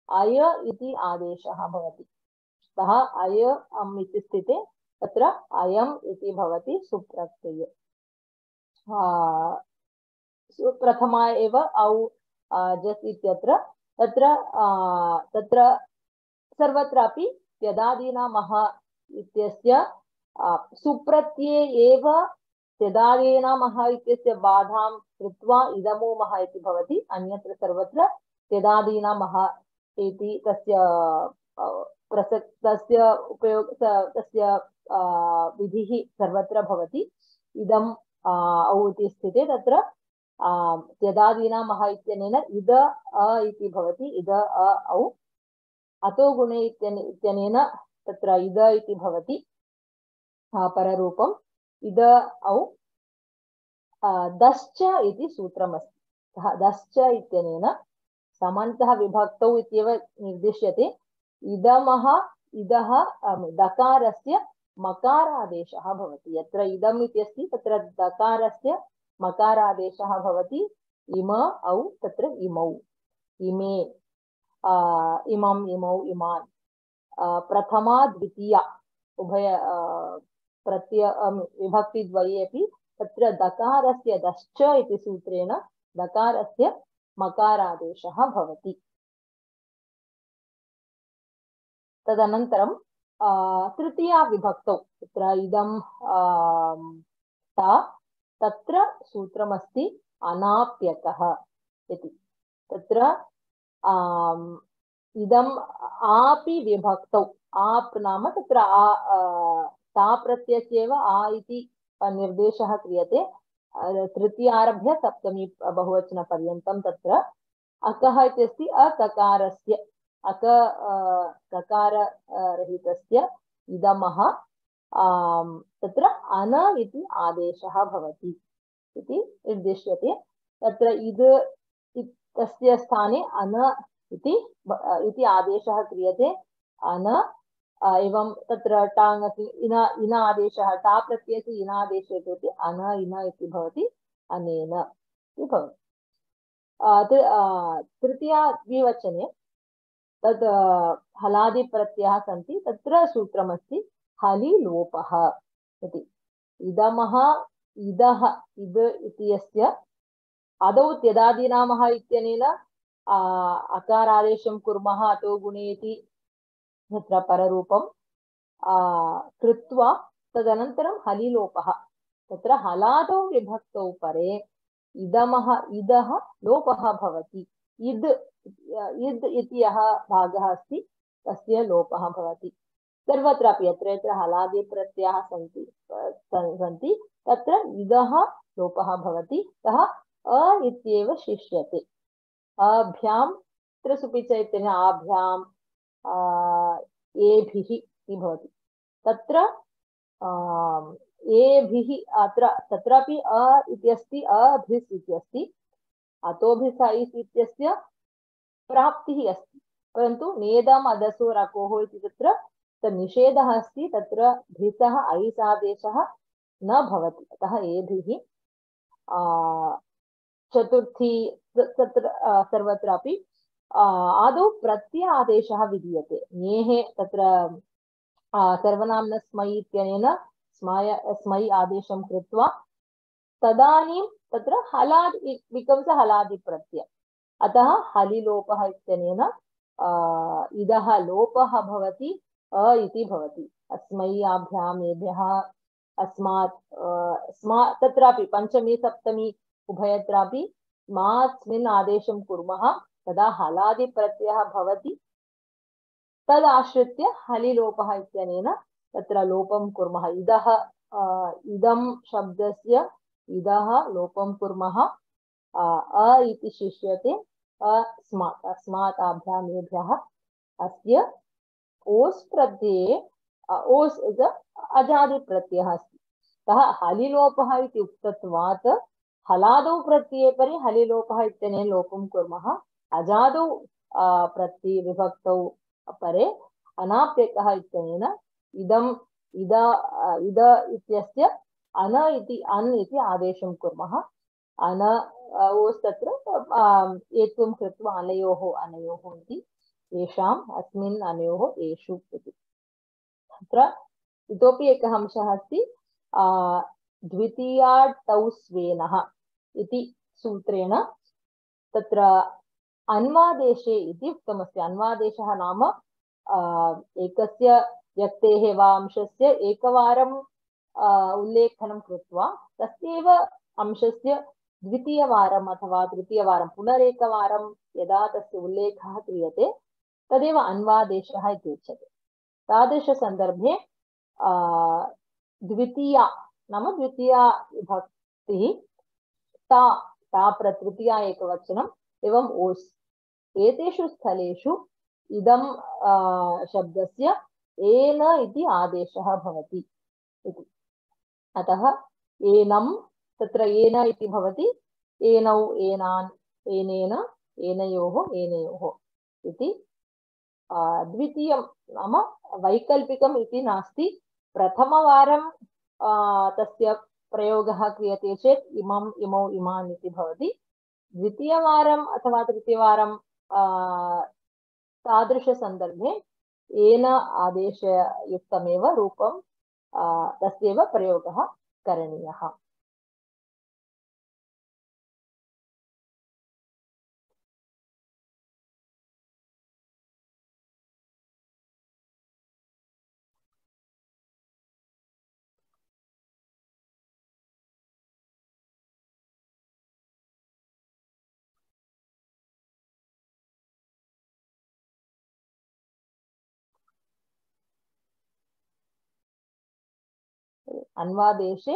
अय इति आदेशः भवति। अतः अय अम् इति स्थिते तत्र अयम् इति भवति सुप्रत्यये। प्रथमा एव औ जस् इत्यत्र तत्र सर्वत्रापि त्यदादीना मह इत्यस्य सुप्रत्यये एव त्यदादीना मह इत्यस्य बाधां कृत्वा इदमो मह इति भवति। अन्यत्र सर्वत्र त्यदादीना मह इति तस्य प्रसक्तस्य उपयोग तस्य विधिः सर्वत्र भवति इदम् औ इति स्थिते तत्र त्यदादीनामः इत्यनेन इद अ इति भवति इद अ औ अतो गुणे इत्यनेन तत्र इद इति भवति पररूपम् इद औ दश्च इति सूत्रमस्ति दश्च इत्यनेन समान्तः विभक्तौ इत्येव निर्दिश्यते इदमः इदः दकारस्य मकारादेशः भवति यत्र इदम् इति अस्ति तत्र दकारस्य मकारादेशः भवति इम औ तत्र इमौ इमे इमम् इमौ इमान् प्रथमा द्वितीया उभय प्रत्यय विभक्तिद्वये अपि तत्र दकारस्य दश्च इति सूत्रेण दकारस्य मकारादेशः भवति तदनन्तरं तृतीया विभक्तौ तत्र इदं ता तत्र सूत्रमस्ति अनाप्यकः इति तत्र इदम् आपि विभक्तौ आप नाम तत्र ता प्रत्ययस्यैव आ इति निर्देशः क्रियते तृतीयारभ्य सप्तमी बहुवचनपर्यन्तं तत्र अकः इति अस्ति अककारस्य ककाररहितस्य इदमः तत्र अन इति आदेशः भवति इति निर्दिश्यते तत्र इद इत्यस्य स्थाने अन इति आदेशः क्रियते अन एवं तत्र टाङ् इन आदेशः टा प्रत्ययस्य इन आदेशे कृते अन इन इति भवति अनेन इति भवति तृतीया द्विवचने तद् हलादिप्रत्ययाः सन्ति तत्र सूत्रमस्ति हलि लोपः इति इदमः इदः इद इत्यस्य आदौ त्यदादीनामः इत्यनेन अकारादेशं कुर्मः अतो गुणे इति तत्र पररूपं कृत्वा तदनन्तरं हलिलोपः तत्र हलादौ विभक्तौ परे इदमः इदः लोपः भवति इद् इति यः भागः अस्ति तस्य लोपः भवति सर्वत्रापि यत्र यत्र हलादि प्रत्ययाः सन्ति तत्र इदः लोपः भवति अतः अ इत्येव शिष्यते अभ्यां त्रिसुपिच इत्यनेन आभ्यां एभिः इति भवति तत्र एभिः अत्र तत्रापि अ इति अस्ति अभिस् इति अस्ति अतोभिस् इत्यस्य प्राप्तिः अस्ति परन्तु नेदम् अदसो रकोः इति तत्र निषेधः अस्ति तत्र भिसः ऐस् आदेशः न भवति अतः एभिः चतुर्थी तत्र सर्वत्रापि आदौ प्रत्यय आदेशः विधीयते ङेः तत्र सर्वनाम्न स्मै इत्यनेन स्मै आदेशं कृत्वा तदानीं तत्र हलादि बिकम्स् हलादि प्रत्यय अतः हलिलोपः इत्यनेन इदः लोपः भवति अ इति भवति अस्मै आभ्याम् एभ्यः अस्मात् तत्रापि पञ्चमी सप्तमी उभयत्रापि स्मास्मिन् आदेशं कुर्मः तदा हलादि प्रत्ययः भवति तदाश्रित्य हलिलोपः इत्यनेन तत्र लोपं कुर्मः इदः इदं शब्दस्य इदः लोपं कुर्मः अ इति शिष्यते अस्मात् आभ्याम् एभ्यः अस्य ओस् प्रत्यये ओस् अजादि प्रत्ययः अस्ति अतः हलिलोपः इति उक्तत्वात् हलादौ प्रत्यये परे हलिलोपः इत्यनेन लोपं कुर्मः अजादौ प्रत्यये विभक्तौ परे अनाप्यकः इत्यनेन इदम् इद इत्यस्य अन इति अन् इति आदेशं कुर्मः अन ओस् तत्र एत्वं कृत्वा अनयोः इति येषाम् अस्मिन् अनयोः एषु इति तत्र इतोपि एकः अंशः अस्ति द्वितीयाटौ स्वेनः इति सूत्रेण तत्र अन्वादेशे इति उक्तमस्ति अन्वादेशः नाम एकस्य व्यक्तेः वा अंशस्य एकवारं उल्लेखनं कृत्वा तस्यैव अंशस्य द्वितीयवारम् अथवा तृतीयवारं पुनरेकवारं यदा तस्य उल्लेखः क्रियते तदेव अन्वादेशः इति उच्यते तादृशसन्दर्भे द्वितीया नाम द्वितीया विभक्तिः ता ता प्रतृतीया एकवचनम् एवं ओस् एतेषु स्थलेषु इदं शब्दस्य एन इति आदेशः भवति इति अतः एनं तत्र एन इति भवति एनौ एनान् एनेन एनयोः एनयोः इति द्वितीयं नाम वैकल्पिकम् इति नास्ति प्रथमवारं तस्य प्रयोगः क्रियते चेत् इमम् इमौ इमान् इति भवति द्वितीयवारम् अथवा तृतीयवारं तादृशसन्दर्भे येन आदेशयुक्तमेव रूपं तस्यैव प्रयोगः करणीयः अन्वादेशे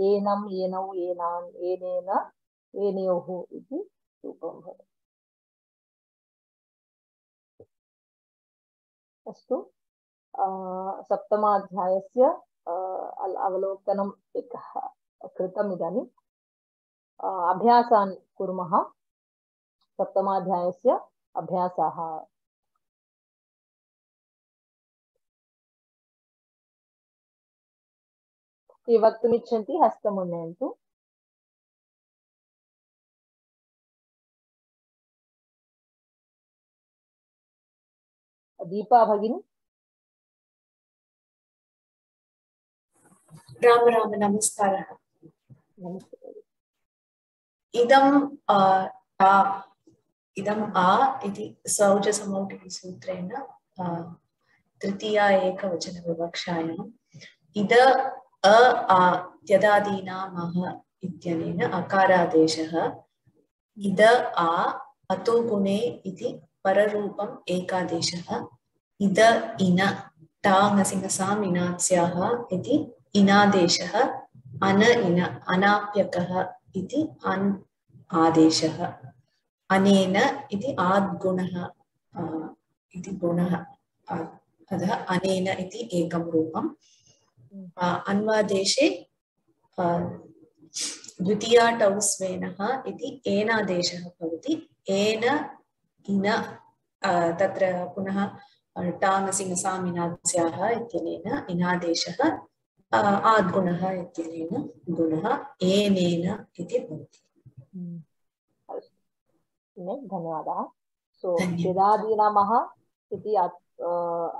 एनम् एनौ एनान् एनेन एनयोः इति रूपं भवति अस्तु सप्तमाध्यायस्य अवलोकनम् एकः कृतम् इदानीम् अभ्यासान् कुर्मः सप्तमाध्यायस्य अभ्यासाः ये वक्तुमिच्छन्ति हस्तमुन्नयन्तु दीपा भगिनी राम राम नमस्कारः नमस्ते इदम् आ इति सौजसमौटिसूत्रेण तृतीया एकवचनविवक्षायाम् इद अ आ त्यदादीनामः इत्यनेन अकारादेशः इद आ अतो गुणे इति पररूपम् एकादेशः इद इन टाङसिङसाम् इनात्स्याः इति इनादेशः अन इन अनाप्यकः इति अन् आदेशः अनेन इति आद्गुणः इति गुणः अतः अनेन इति एकं रूपम् अन्वादेशे द्वितीया टौ स्वेनः इति एनादेशः भवति एन इन तत्र पुनः टाङसिङसाम् इनात्स्याः इत्यनेन इनादेशः आद्गुणः इत्यनेन गुणः एनेन इति भवति धन्यवादः सो त्यदादीनामः इति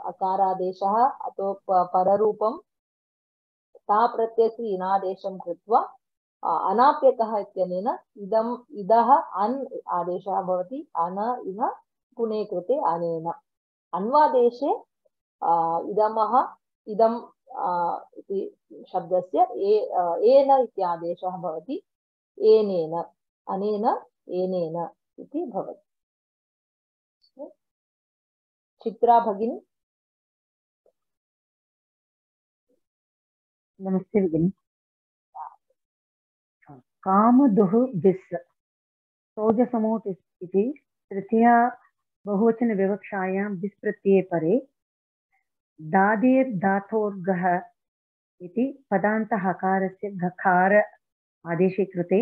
अकारादेशः अतो पररूपं ता प्रत्ययस्य इनादेशं कृत्वा अनाप्यकः इत्यनेन इदम् इदः अन् आदेशः भवति अन इन गुणे कृते अनेन अन्वादेशे इदमः इदम् इति शब्दस्य एन इत्यादेशः भवति एनेन अनेन एनेन इति भवति चित्रा भगिनी नमस्ते भगिनी कामदुः बिस् सौजसमोट् इति तृतीया बहुवचनविवक्षायां बिस् प्रत्यये परे दादेर् धातोर्गः इति पदान्तहकारस्य घकार आदेशे कृते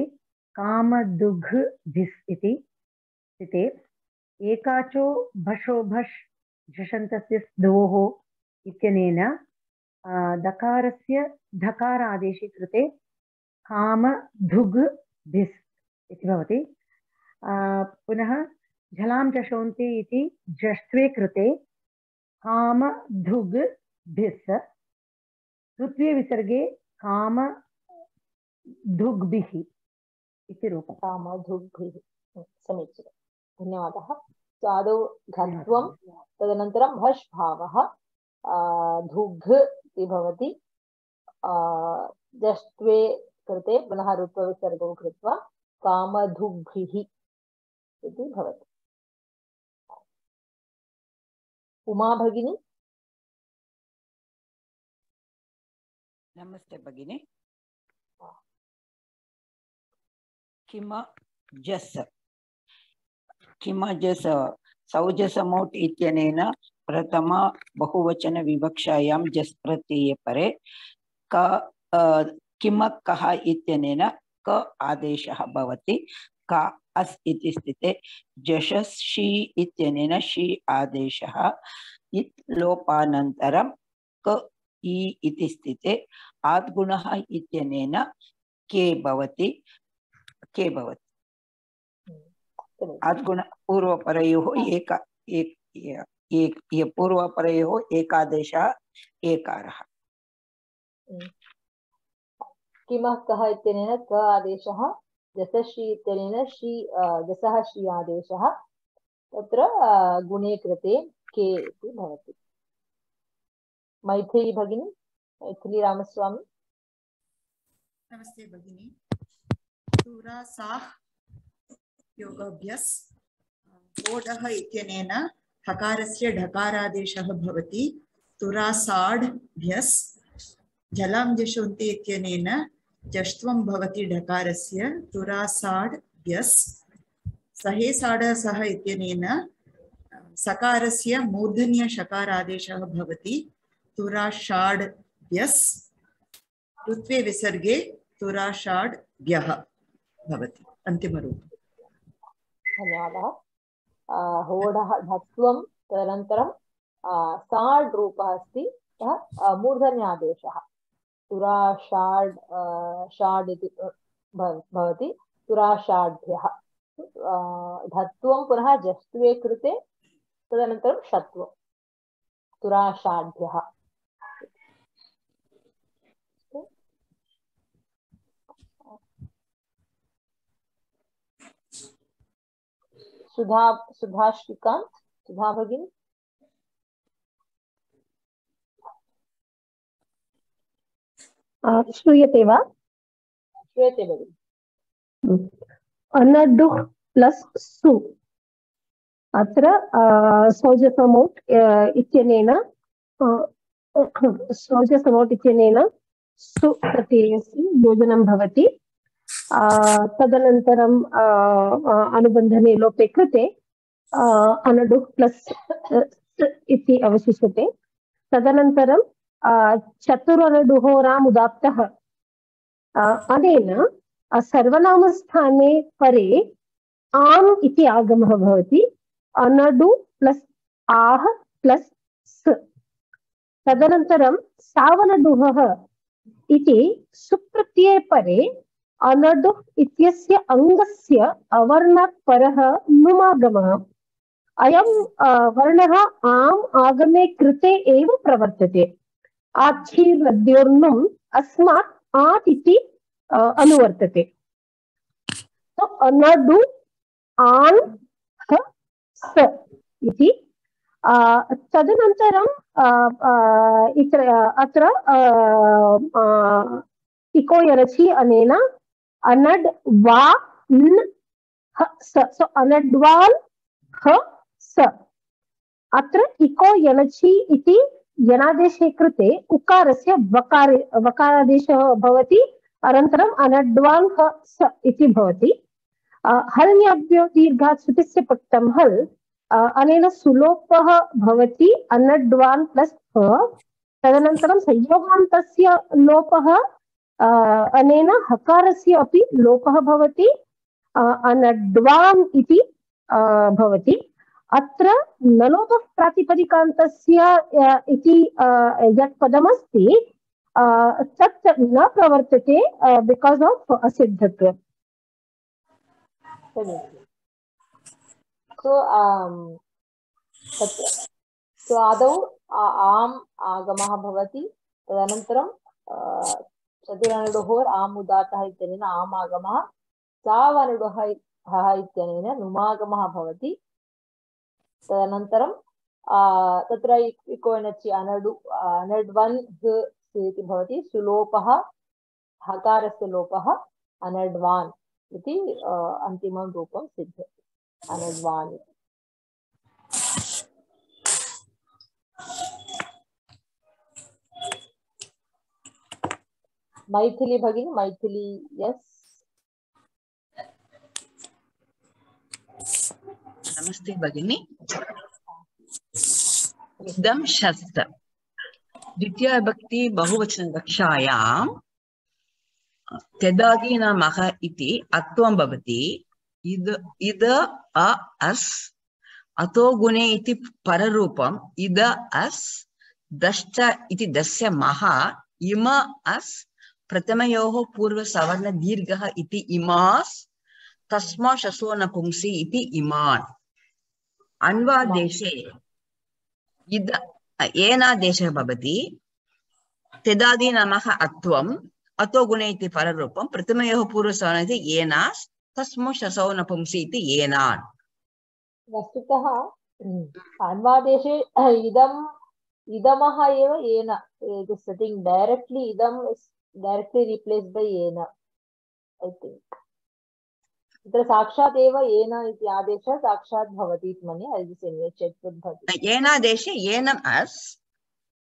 कामदुघ् भिस् इति स्थिते एकाचो भषो भष् झषन्तस्य द्वोः इत्यनेन दकारस्य धकार आदेशे कृते कामधुग् भिस् इति भवति पुनः झलां चषोन्ति इति जष्ट्वे कृते कामधुग् भिस् ऋत्वे विसर्गे कामधुग्भिः इति रूपं कामधुग्भिः समीचीनं धन्यवादः आदौ घत्वं तदनन्तरं भष् भावः धुग् इति भवति जष्ट्वे कृते पुनः ऋत्वविसर्गं कृत्वा कामधुग्भिः इति भवति उमा भगिनी नमस्ते भगिनी। किमजस् किमजस् सौजसमोट् इत्यनेन प्रथम बहुवचन विवक्षायां जस् प्रत्यये परे किमकः इत्यनेन क आदेशः भवति। का अस् इति स्थिते जशसि इत्यनेन शी आदेशः। इत् लोपानन्तरं क इ इति स्थिते आद्गुणः इत्यनेन के भवति। आद्गुण पूर्वपरयोः पूर्वपरयोः एकादेशः एकारः। किमः कः इत्यनेन क आदेशः, जसषि इत्यनेन शी जसः शी आदेशः, तत्र गुणे कृते के इति भवति। मैथिली भगिनी, मैथिली रामस्वामी। नमस्ते भगिनी। तुरासाः योगाभ्यास ओडः इत्यनेन हकारस्य ढकारादेशः भवति। तुरासाढ्भ्यस्। जलं जशोन्ति इत्यनेन जष्ट्वं भवति ढकारस्य। तुरासाढ्भ्यस्। सहे साढ सह इत्यनेन सकारस्य मूर्धन्य शकारादेशः भवति। तुराषाढ्भ्यस्। ऋत्वे विसर्गे तुराषाढ्भ्यः भवति। अन्तिमरूपम्। धन्यवादः। होडः धत्वं, तदनन्तरं साड् रूपः अस्ति, मूर्धन्यादेशः तुराषाड् षाड् इति भवति। तुराषाढ्भ्यः। धत्वं पुनः जस्त्वे कृते, तदनन्तरं षत्वं तुराषाढ्भ्यः। सुधा श्रीकांत, सुधा भगिनी। श्रूयते वा? श्रूयते भगिनी। अनडुः प्लस् सु, अत्र सौजसमोट् इत्यनेन सु प्रत्ययस्य योजनं भवति। तदनन्तरं अनुबन्धने लोपे कृते अनडुः प्लस् इति अवशिष्यते। तदनन्तरं चतुरनडुहोराम् उदात्तः, अनेन सर्वनामस्थाने परे आम् इति आगमः भवति। अनडु प्लस् आह प्लस् स। तदनन्तरं सावनडुहः इति सुप्रत्यये परे अनडुः इत्यस्य अङ्गस्य अवर्णात् परः नुमागमः। अयं वर्णः आम् आगमे कृते एव प्रवर्तते। आच्छीर्नद्योर्नुम् अस्मात् आत् इति अनुवर्तते। तो अनडु आन् ह स इति। तदनन्तरं अत्र इको यरचि अनेन अनड् वा न ह स। सो अनड्वान् ह स। अत्र इको यनचि इति यनादेशे कृते उकारस्य वकारादेशः भवति। अनन्तरम् अनड्वान् ह स इति भवति। हल्न्याभ्यो दीर्घात् श्रुतिस्य पक्तं हल्, अनेन सुलोपः भवति अनड्वान् प्लस् ह। तदनन्तरं संयोगान्तस्य लोपः, अनेन हकारस्य अपि लोपः भवति। अनड्वान् इति भवति। अत्र नलोपः प्रातिपदिकान्तस्य इति यत् पदमस्ति तत् न प्रवर्तते बिकास् आफ् असिद्धत्वम्। सो आदौ आम् आगमः भवति। तदनन्तरं चतुरनडुहोर् आम् उदात्तः इत्यनेन आम् आगमः, सावनडुहः इत्यनेन नुमागमः भवति। तदनन्तरं तत्र इको यनचि अनड्वन् ह इति भवति। सुलोपः, हकारस्य लोपः अनड्वान् इति अन्तिमं रूपं सिद्ध्यति। अनड्वान्। मैथिली भगिनी मैथिली यस नमस्ते भगिनी इदं शस्त्र द्वितीया विभक्ति बहुवचन कक्षायां त्यदादीनामः इति अत्वं भवति इद अ अस् अतो गुणे इति पररूपम् इद अस् दश्च इति दस्य मः इम अस् प्रथमयोः पूर्वसवर्ण दीर्घः इति इमास् तस्मा शसो नपुंसि इति इमान् अन्वादेशे इद एनादेशः भवति त्यदादीनामः अत्वम् अतो गुणे इति पररूपं प्रथमयोः पूर्वसवर्ण इति एनास् तस्मा शसो नपुंसि इति एनान् वस्तुतः अन्वादेशे इदमः एव येन it is sitting directly idam is directly replaced by yena I think तत्र साक्षात् एव येन इति आदेशः साक्षात् भवति इति मन्ये I just anyway check with भवति येनादेशे येनम् अस्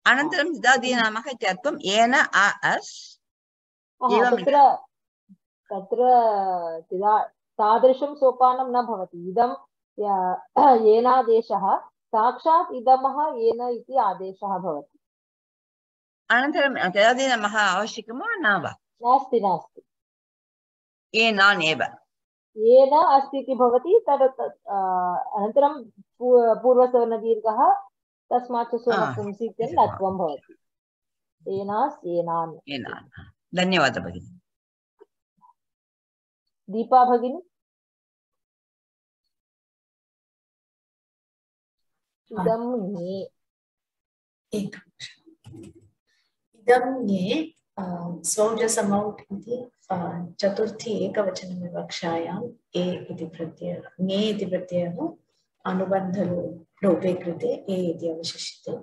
अनन्तरं त्यदादीनामः इत्यर्थं येन अ अस् तत्र तादृशं सोपानं न भवति इदं येनादेशः साक्षात् इदमः येन इति आदेशः भवति अनन्तरं त्यदादीनामः आवश्यकं वा न वा नास्ति येनान् एव येन अस्ति इति भवति तद् अनन्तरं पूर्वसवर्णदीर्घः तस्मात् पुंसि इत्यनेन लत्वं भवति येनास् येनान् धन्यवादः भगिनी दीपा भगिनी इदं ङे इदं ङे सौजसमौट् इति चतुर्थी एकवचनविवक्षायाम् ए इति प्रत्ययः ङे इति प्रत्ययः अनुबन्धलोपे कृते ए इति अवशिष्यते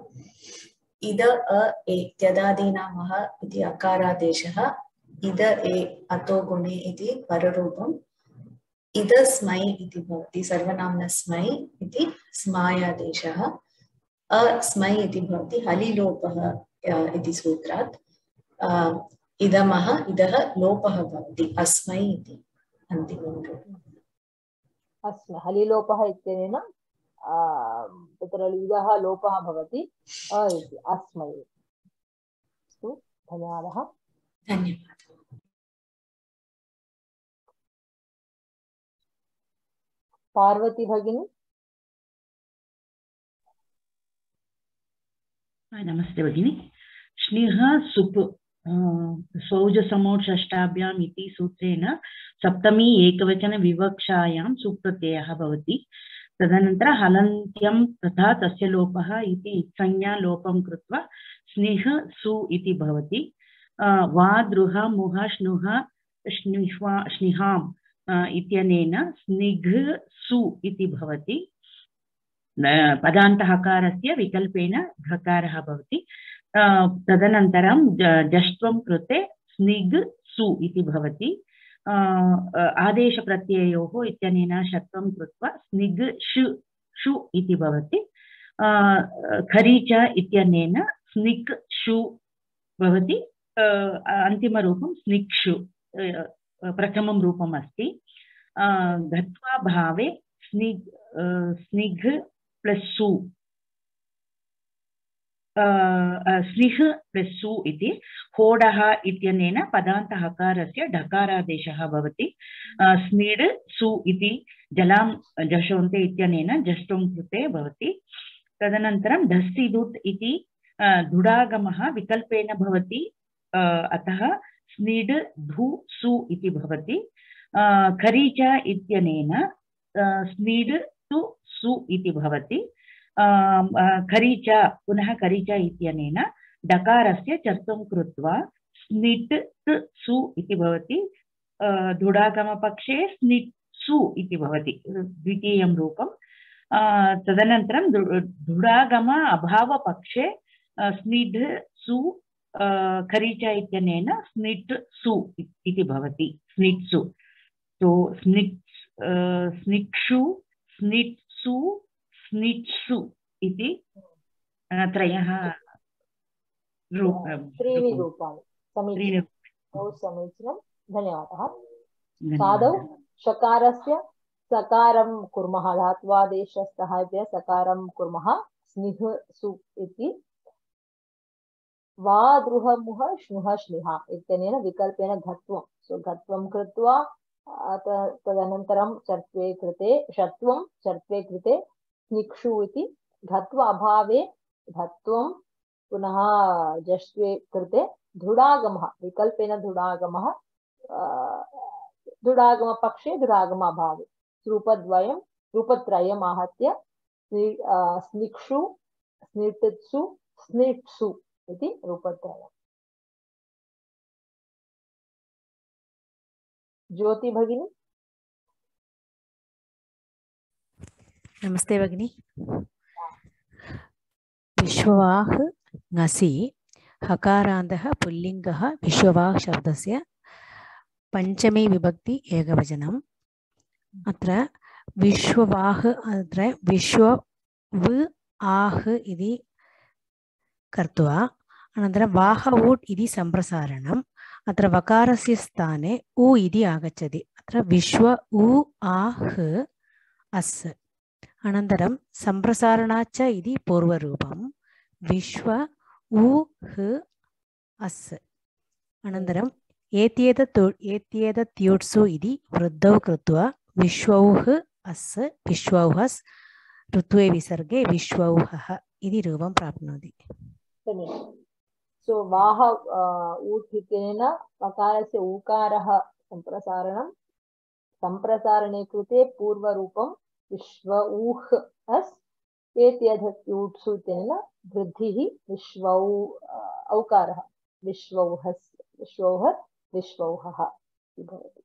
इद अ ए त्यदादीनामः इति अकारादेशः इद ए अतो गुणे इति पररूपम् इद स्मै इति भवति सर्वनाम्न स्मै इति स्मायादेशः अस्मै इति भवति हलिलोपः इति सूत्रात् इदमः इदः लोपः भवति अस्मै इति अन्तिमं रूपम् अस्मै हलिलोपः इत्यनेन तत्र इदः लोपः भवति अ इति अस्मै अस्तु धन्यवादः पार्वती भगिनी नमस्ते भगिनी स्नेह सुप् सौजसमोट् षष्ठाभ्याम् इति सूत्रेण सप्तमी एकवचन विवक्षायां सुप्रत्ययः भवति तदनन्तरं हलन्त्यं तथा तस्य लोपः इति संज्ञा लोपं कृत्वा स्नेह सु इति भवति वा द्रुह मुह श्नुह श्निहाम् इत्यनेन स्निघ् सु इति भवति पदान्तहकारस्य विकल्पेन घकारः भवति तदनन्तरं जष्ट्वं कृते स्निग् सु इति भवति आदेशप्रत्ययोः इत्यनेन षत्वं कृत्वा स्निग् शु इति भवति खरीच इत्यनेन स्निक् शु भवति अन्तिमरूपं स्निक्षु प्रथमं रूपम् अस्ति गत्वा भावे स्निघ् प्लस् सु स्निह् प्लस् सु इति होडः इत्यनेन पदान्तहकारस्य ढकारादेशः भवति स्निड् सु इति जलां जशोन्ते इत्यनेन जष्टुं कृते भवति तदनन्तरं धस्सिदुत् इति धुडागमः विकल्पेन भवति अतः स्निड् धु सु इति भवति खरीच इत्यनेन स्निड् तु सु इति भवति खरीच पुनः खरीच इत्यनेन डकारस्य चर्तुं कृत्वा स्निट् सु इति भवति धुडागमपक्षे स्निट् सु इति भवति द्वितीयं रूपं तदनन्तरं धुडागम अभावपक्षे स्निड् सु खरीच इत्यनेन स्निट् सु इति भवति स्निट्सु तो स्निक्षु स्निट्सु स्निट्सु इति त्रयः त्रीणि रूपाणि बहु समीचीनं धन्यवादः साधौ शकारस्य सकारं कुर्मः धात्वादेशसहाय्येन सकारं कुर्मः स्निह सु इति वा द्रुहमुह श्नुह श्लिह इत्यनेन विकल्पेन घत्वं सो घत्वं कृत्वा तदनन्तरं चर्त्वे कृते षत्वं चर्त्वे कृते स्निक्षु इति घत्व अभावे घत्वं पुनः जष्ट्वे कृते धुडागमः विकल्पेन धुडागमः धुडागमपक्षे धुडागम अभावे रूपत्रयम् आहत्य स्निक्षु स्निटित्सु स्निट्सु इति रूपत्रयम् ज्योति भगिनी नमस्ते भगिनी विश्ववाह ngasi हकारान्तः पुल्लिङ्गः विश्ववाह शब्दस्य पंचमे विभक्ति एकवचनम् अत्र विश्ववाह अत्र विश्व व आह इति कर्त्वा अनन्तरं वाह ऊट् इति सम्प्रसारणम् अत्र वकारस्य स्थाने उ इति आगच्छति अत्र विश्व उ आह अस् अनन्तरं सम्प्रसारणाच्च इति पूर्वरूपं विश्व उ ह अस् अनन्तरं एत्येतत् युट्सु इति वृद्धौ कृत्वा विश्वौह अस् विश्वौहस् ऋत्वे विसर्गे विश्वौहः इति रूपं प्राप्नोति सो वाह ऊट् इत्यनेन वकारस्य ऊकारः सम्प्रसारणे कृते पूर्वरूपं विश्व ऊह अस् एत्येतत् युट्सु इत्यनेन वृद्धिः विश्वौ औकारः विश्वौहस् विश्वौहत् विश्वौहः भवति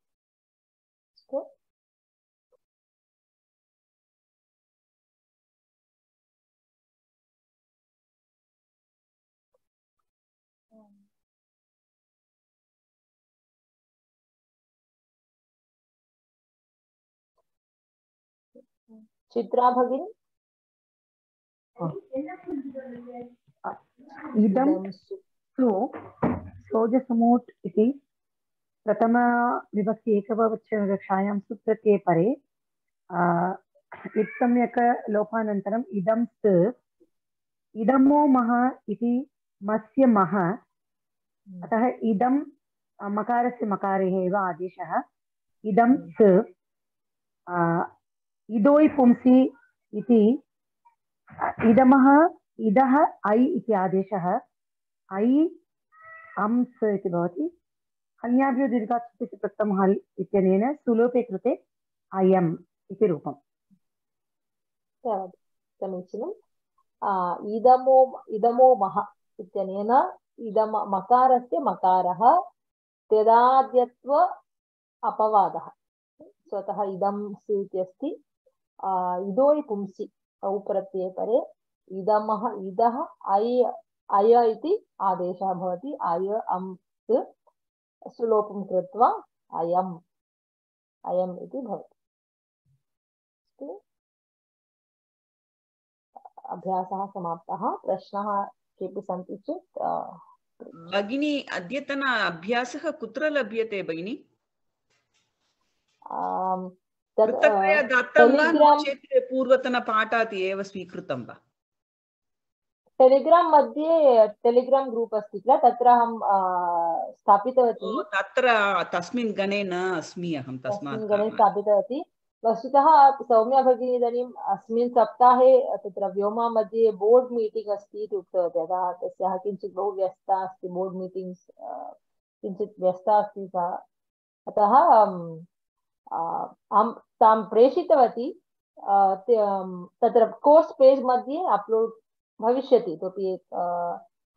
चित्रा भगिनी इदं सु सोजसमोट् इति प्रथम विभक्ति एकवचनकक्षायां सुप्रत्यये परे इत्सम्यक लोपानन्तरम् इदं स इदमो मः इति मस्य मः अतः इदं मकारस्य मकारे एव आदेशः इदं स इदोयि पुंसि इति इदमः इदः ऐ इति आदेशः ऐ अंस् इति भवति अन्याभ्यो दीर्घात् प्रथमः हल् इत्यनेन सुलोपे कृते अयम् इति रूपम् समीचीनम् इदमो मः इत्यनेन इदम मकारस्य मकारः त्यदाद्यत्व अपवादः स्वतः इदं सु इत्यस्ति इदोयि पुंसि औ प्रत्यये परे इदमः इदः अय इति आदेशः भवति अय अंस् सुलोपं कृत्वा अयम् इति भवति अभ्यासः समाप्तः प्रश्नः केऽपि सन्ति चेत् भगिनी अद्यतन अभ्यासः कुत्र लभ्यते भगिनी पृथक्तया दत्तं वा नो चेत् पूर्वतनपाठात् एव स्वीकृतं वा टेलिग्राम मध्ये टेलिग्राम ग्रुप् अस्ति किल तत्र अहं स्थापितवती तत्र तस्मिन् गणे न अस्मि अहं तस्मात् गणे स्थापितवती वस्तुतः सौम्या भगिनी इदानीम् अस्मिन् सप्ताहे तत्र व्योमा मध्ये बोर्ड मीटिंग अस्ति इति उक्तवती अतः तस्याः किञ्चित् बहु व्यस्ता अस्ति बोर्ड मीटिंग्स् किञ्चित् व्यस्ता अस्ति सा अतः अहं तां प्रेषितवती तत्र कोर्स् पेज् मध्ये अपलोड् भविष्यति इतोपि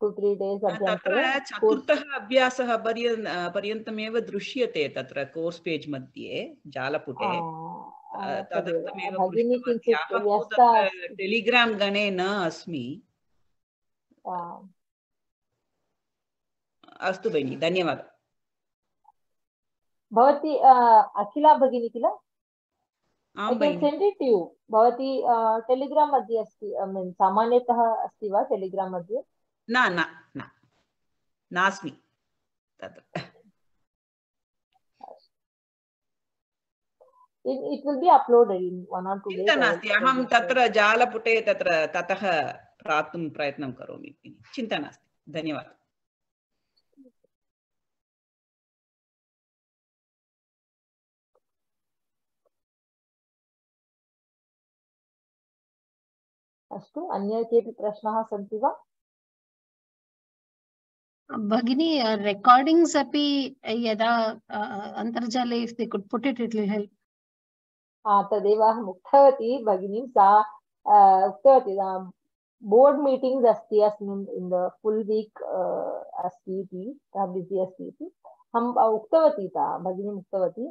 2-3 days अभ्यन्तरे चतुर्थः अभ्यासः पर्यन्तमेव दृश्यते तत्र कोर्स् पेज् मध्ये जालपुटे तदर्थमेव टेलिग्राम गणे न अस्मि अस्तु भगिनि धन्यवादः भवती अखिला भगिनी किल I can send it to you. भवती टेलिग्राम मध्ये अस्ति सामान्यतः अस्ति वा टेलिग्राम मध्ये न नास्मि तत्र It will be uploaded in 1 or 2 days. चिन्ता नास्ति, अहं तत्र जालपुटे तत्र ततः प्राप्तुं प्रयत्नं करोमि। चिन्ता नास्ति, धन्यवादः। अस्तु, अन्य केऽपि प्रश्नाः सन्ति वा? भगिनी, रेकार्डिङ्ग्स् अपि यदा अन्तर्जाले if they could put it, it will help. तदेव अहम् उक्तवती भगिनी, सा उक्तवती बोर्ड् मीटिङ्ग्स् अस्ति अस्मिन् इन् द फुल् वीक् अस्ति इति, बिसि अस्ति इति अहम् उक्तवती, भगिनी उक्तवती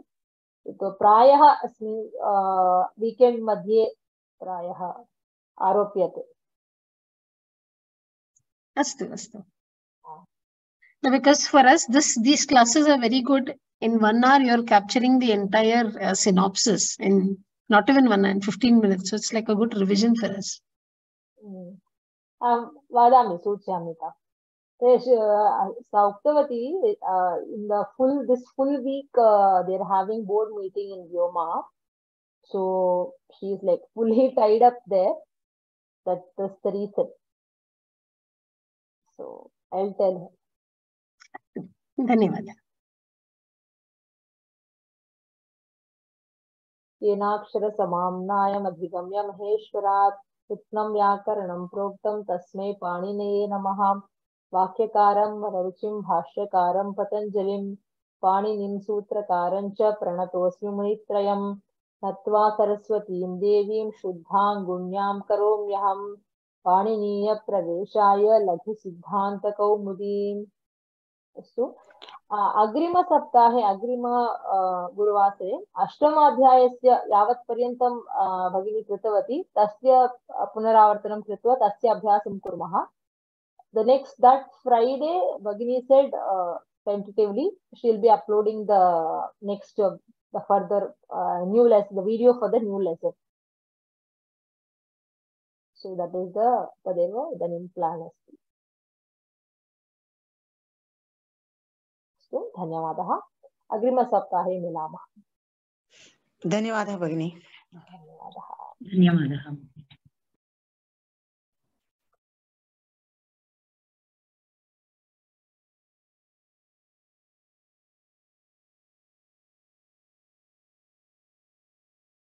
प्रायः अस्मिन् वीकेण्ड् मध्ये प्रायः आरोप्यते। अस्तु अस्तु। Because for us, these classes are very good. In 1 hour, you're capturing the entire synopsis in not even 1 hour, in 15 minutes. So it's like a good revision for us. Vadami, सूचयामि ता। सा उक्तवती in the this full week they're having board meeting in Vyoma, so she's like fully tied up there. That's the reason. So I'll tell her. धन्यवाद। येनाक्षरसमाम्नायमधिगम्य महेश्वरात् कृत्स्नं व्याकरणं प्रोक्तं तस्मै पाणिनये नमः। वाक्यकारं वररुचिं भाष्यकारं पतञ्जलिं पाणिनिं सूत्रकारं च प्रणतोऽस्मि मुनित्रयं। नत्वा सरस्वतीं देवीं शुद्धां गुण्यां करोम्यहं पाणिनीयप्रवेशाय लघुसिद्धान्तकौमुदीम्। अस्तु, अग्रिमसप्ताहे अग्रिम गुरुवासरे अष्टमाध्यायस्य यावत् पर्यन्तं भगिनी कृतवती तस्य पुनरावर्तनं कृत्वा तस्य अभ्यासं कुर्मः। The that Friday, Bhagini said tentatively she will be uploading the next the further new lesson, the video for the new lesson. So that is the Tadeva Idanim plan asti. So धन्यवादः। अग्रिमसप्ताहे मिलामः। धन्यवादः भगिनी। धन्यवादः। धन्यवादः।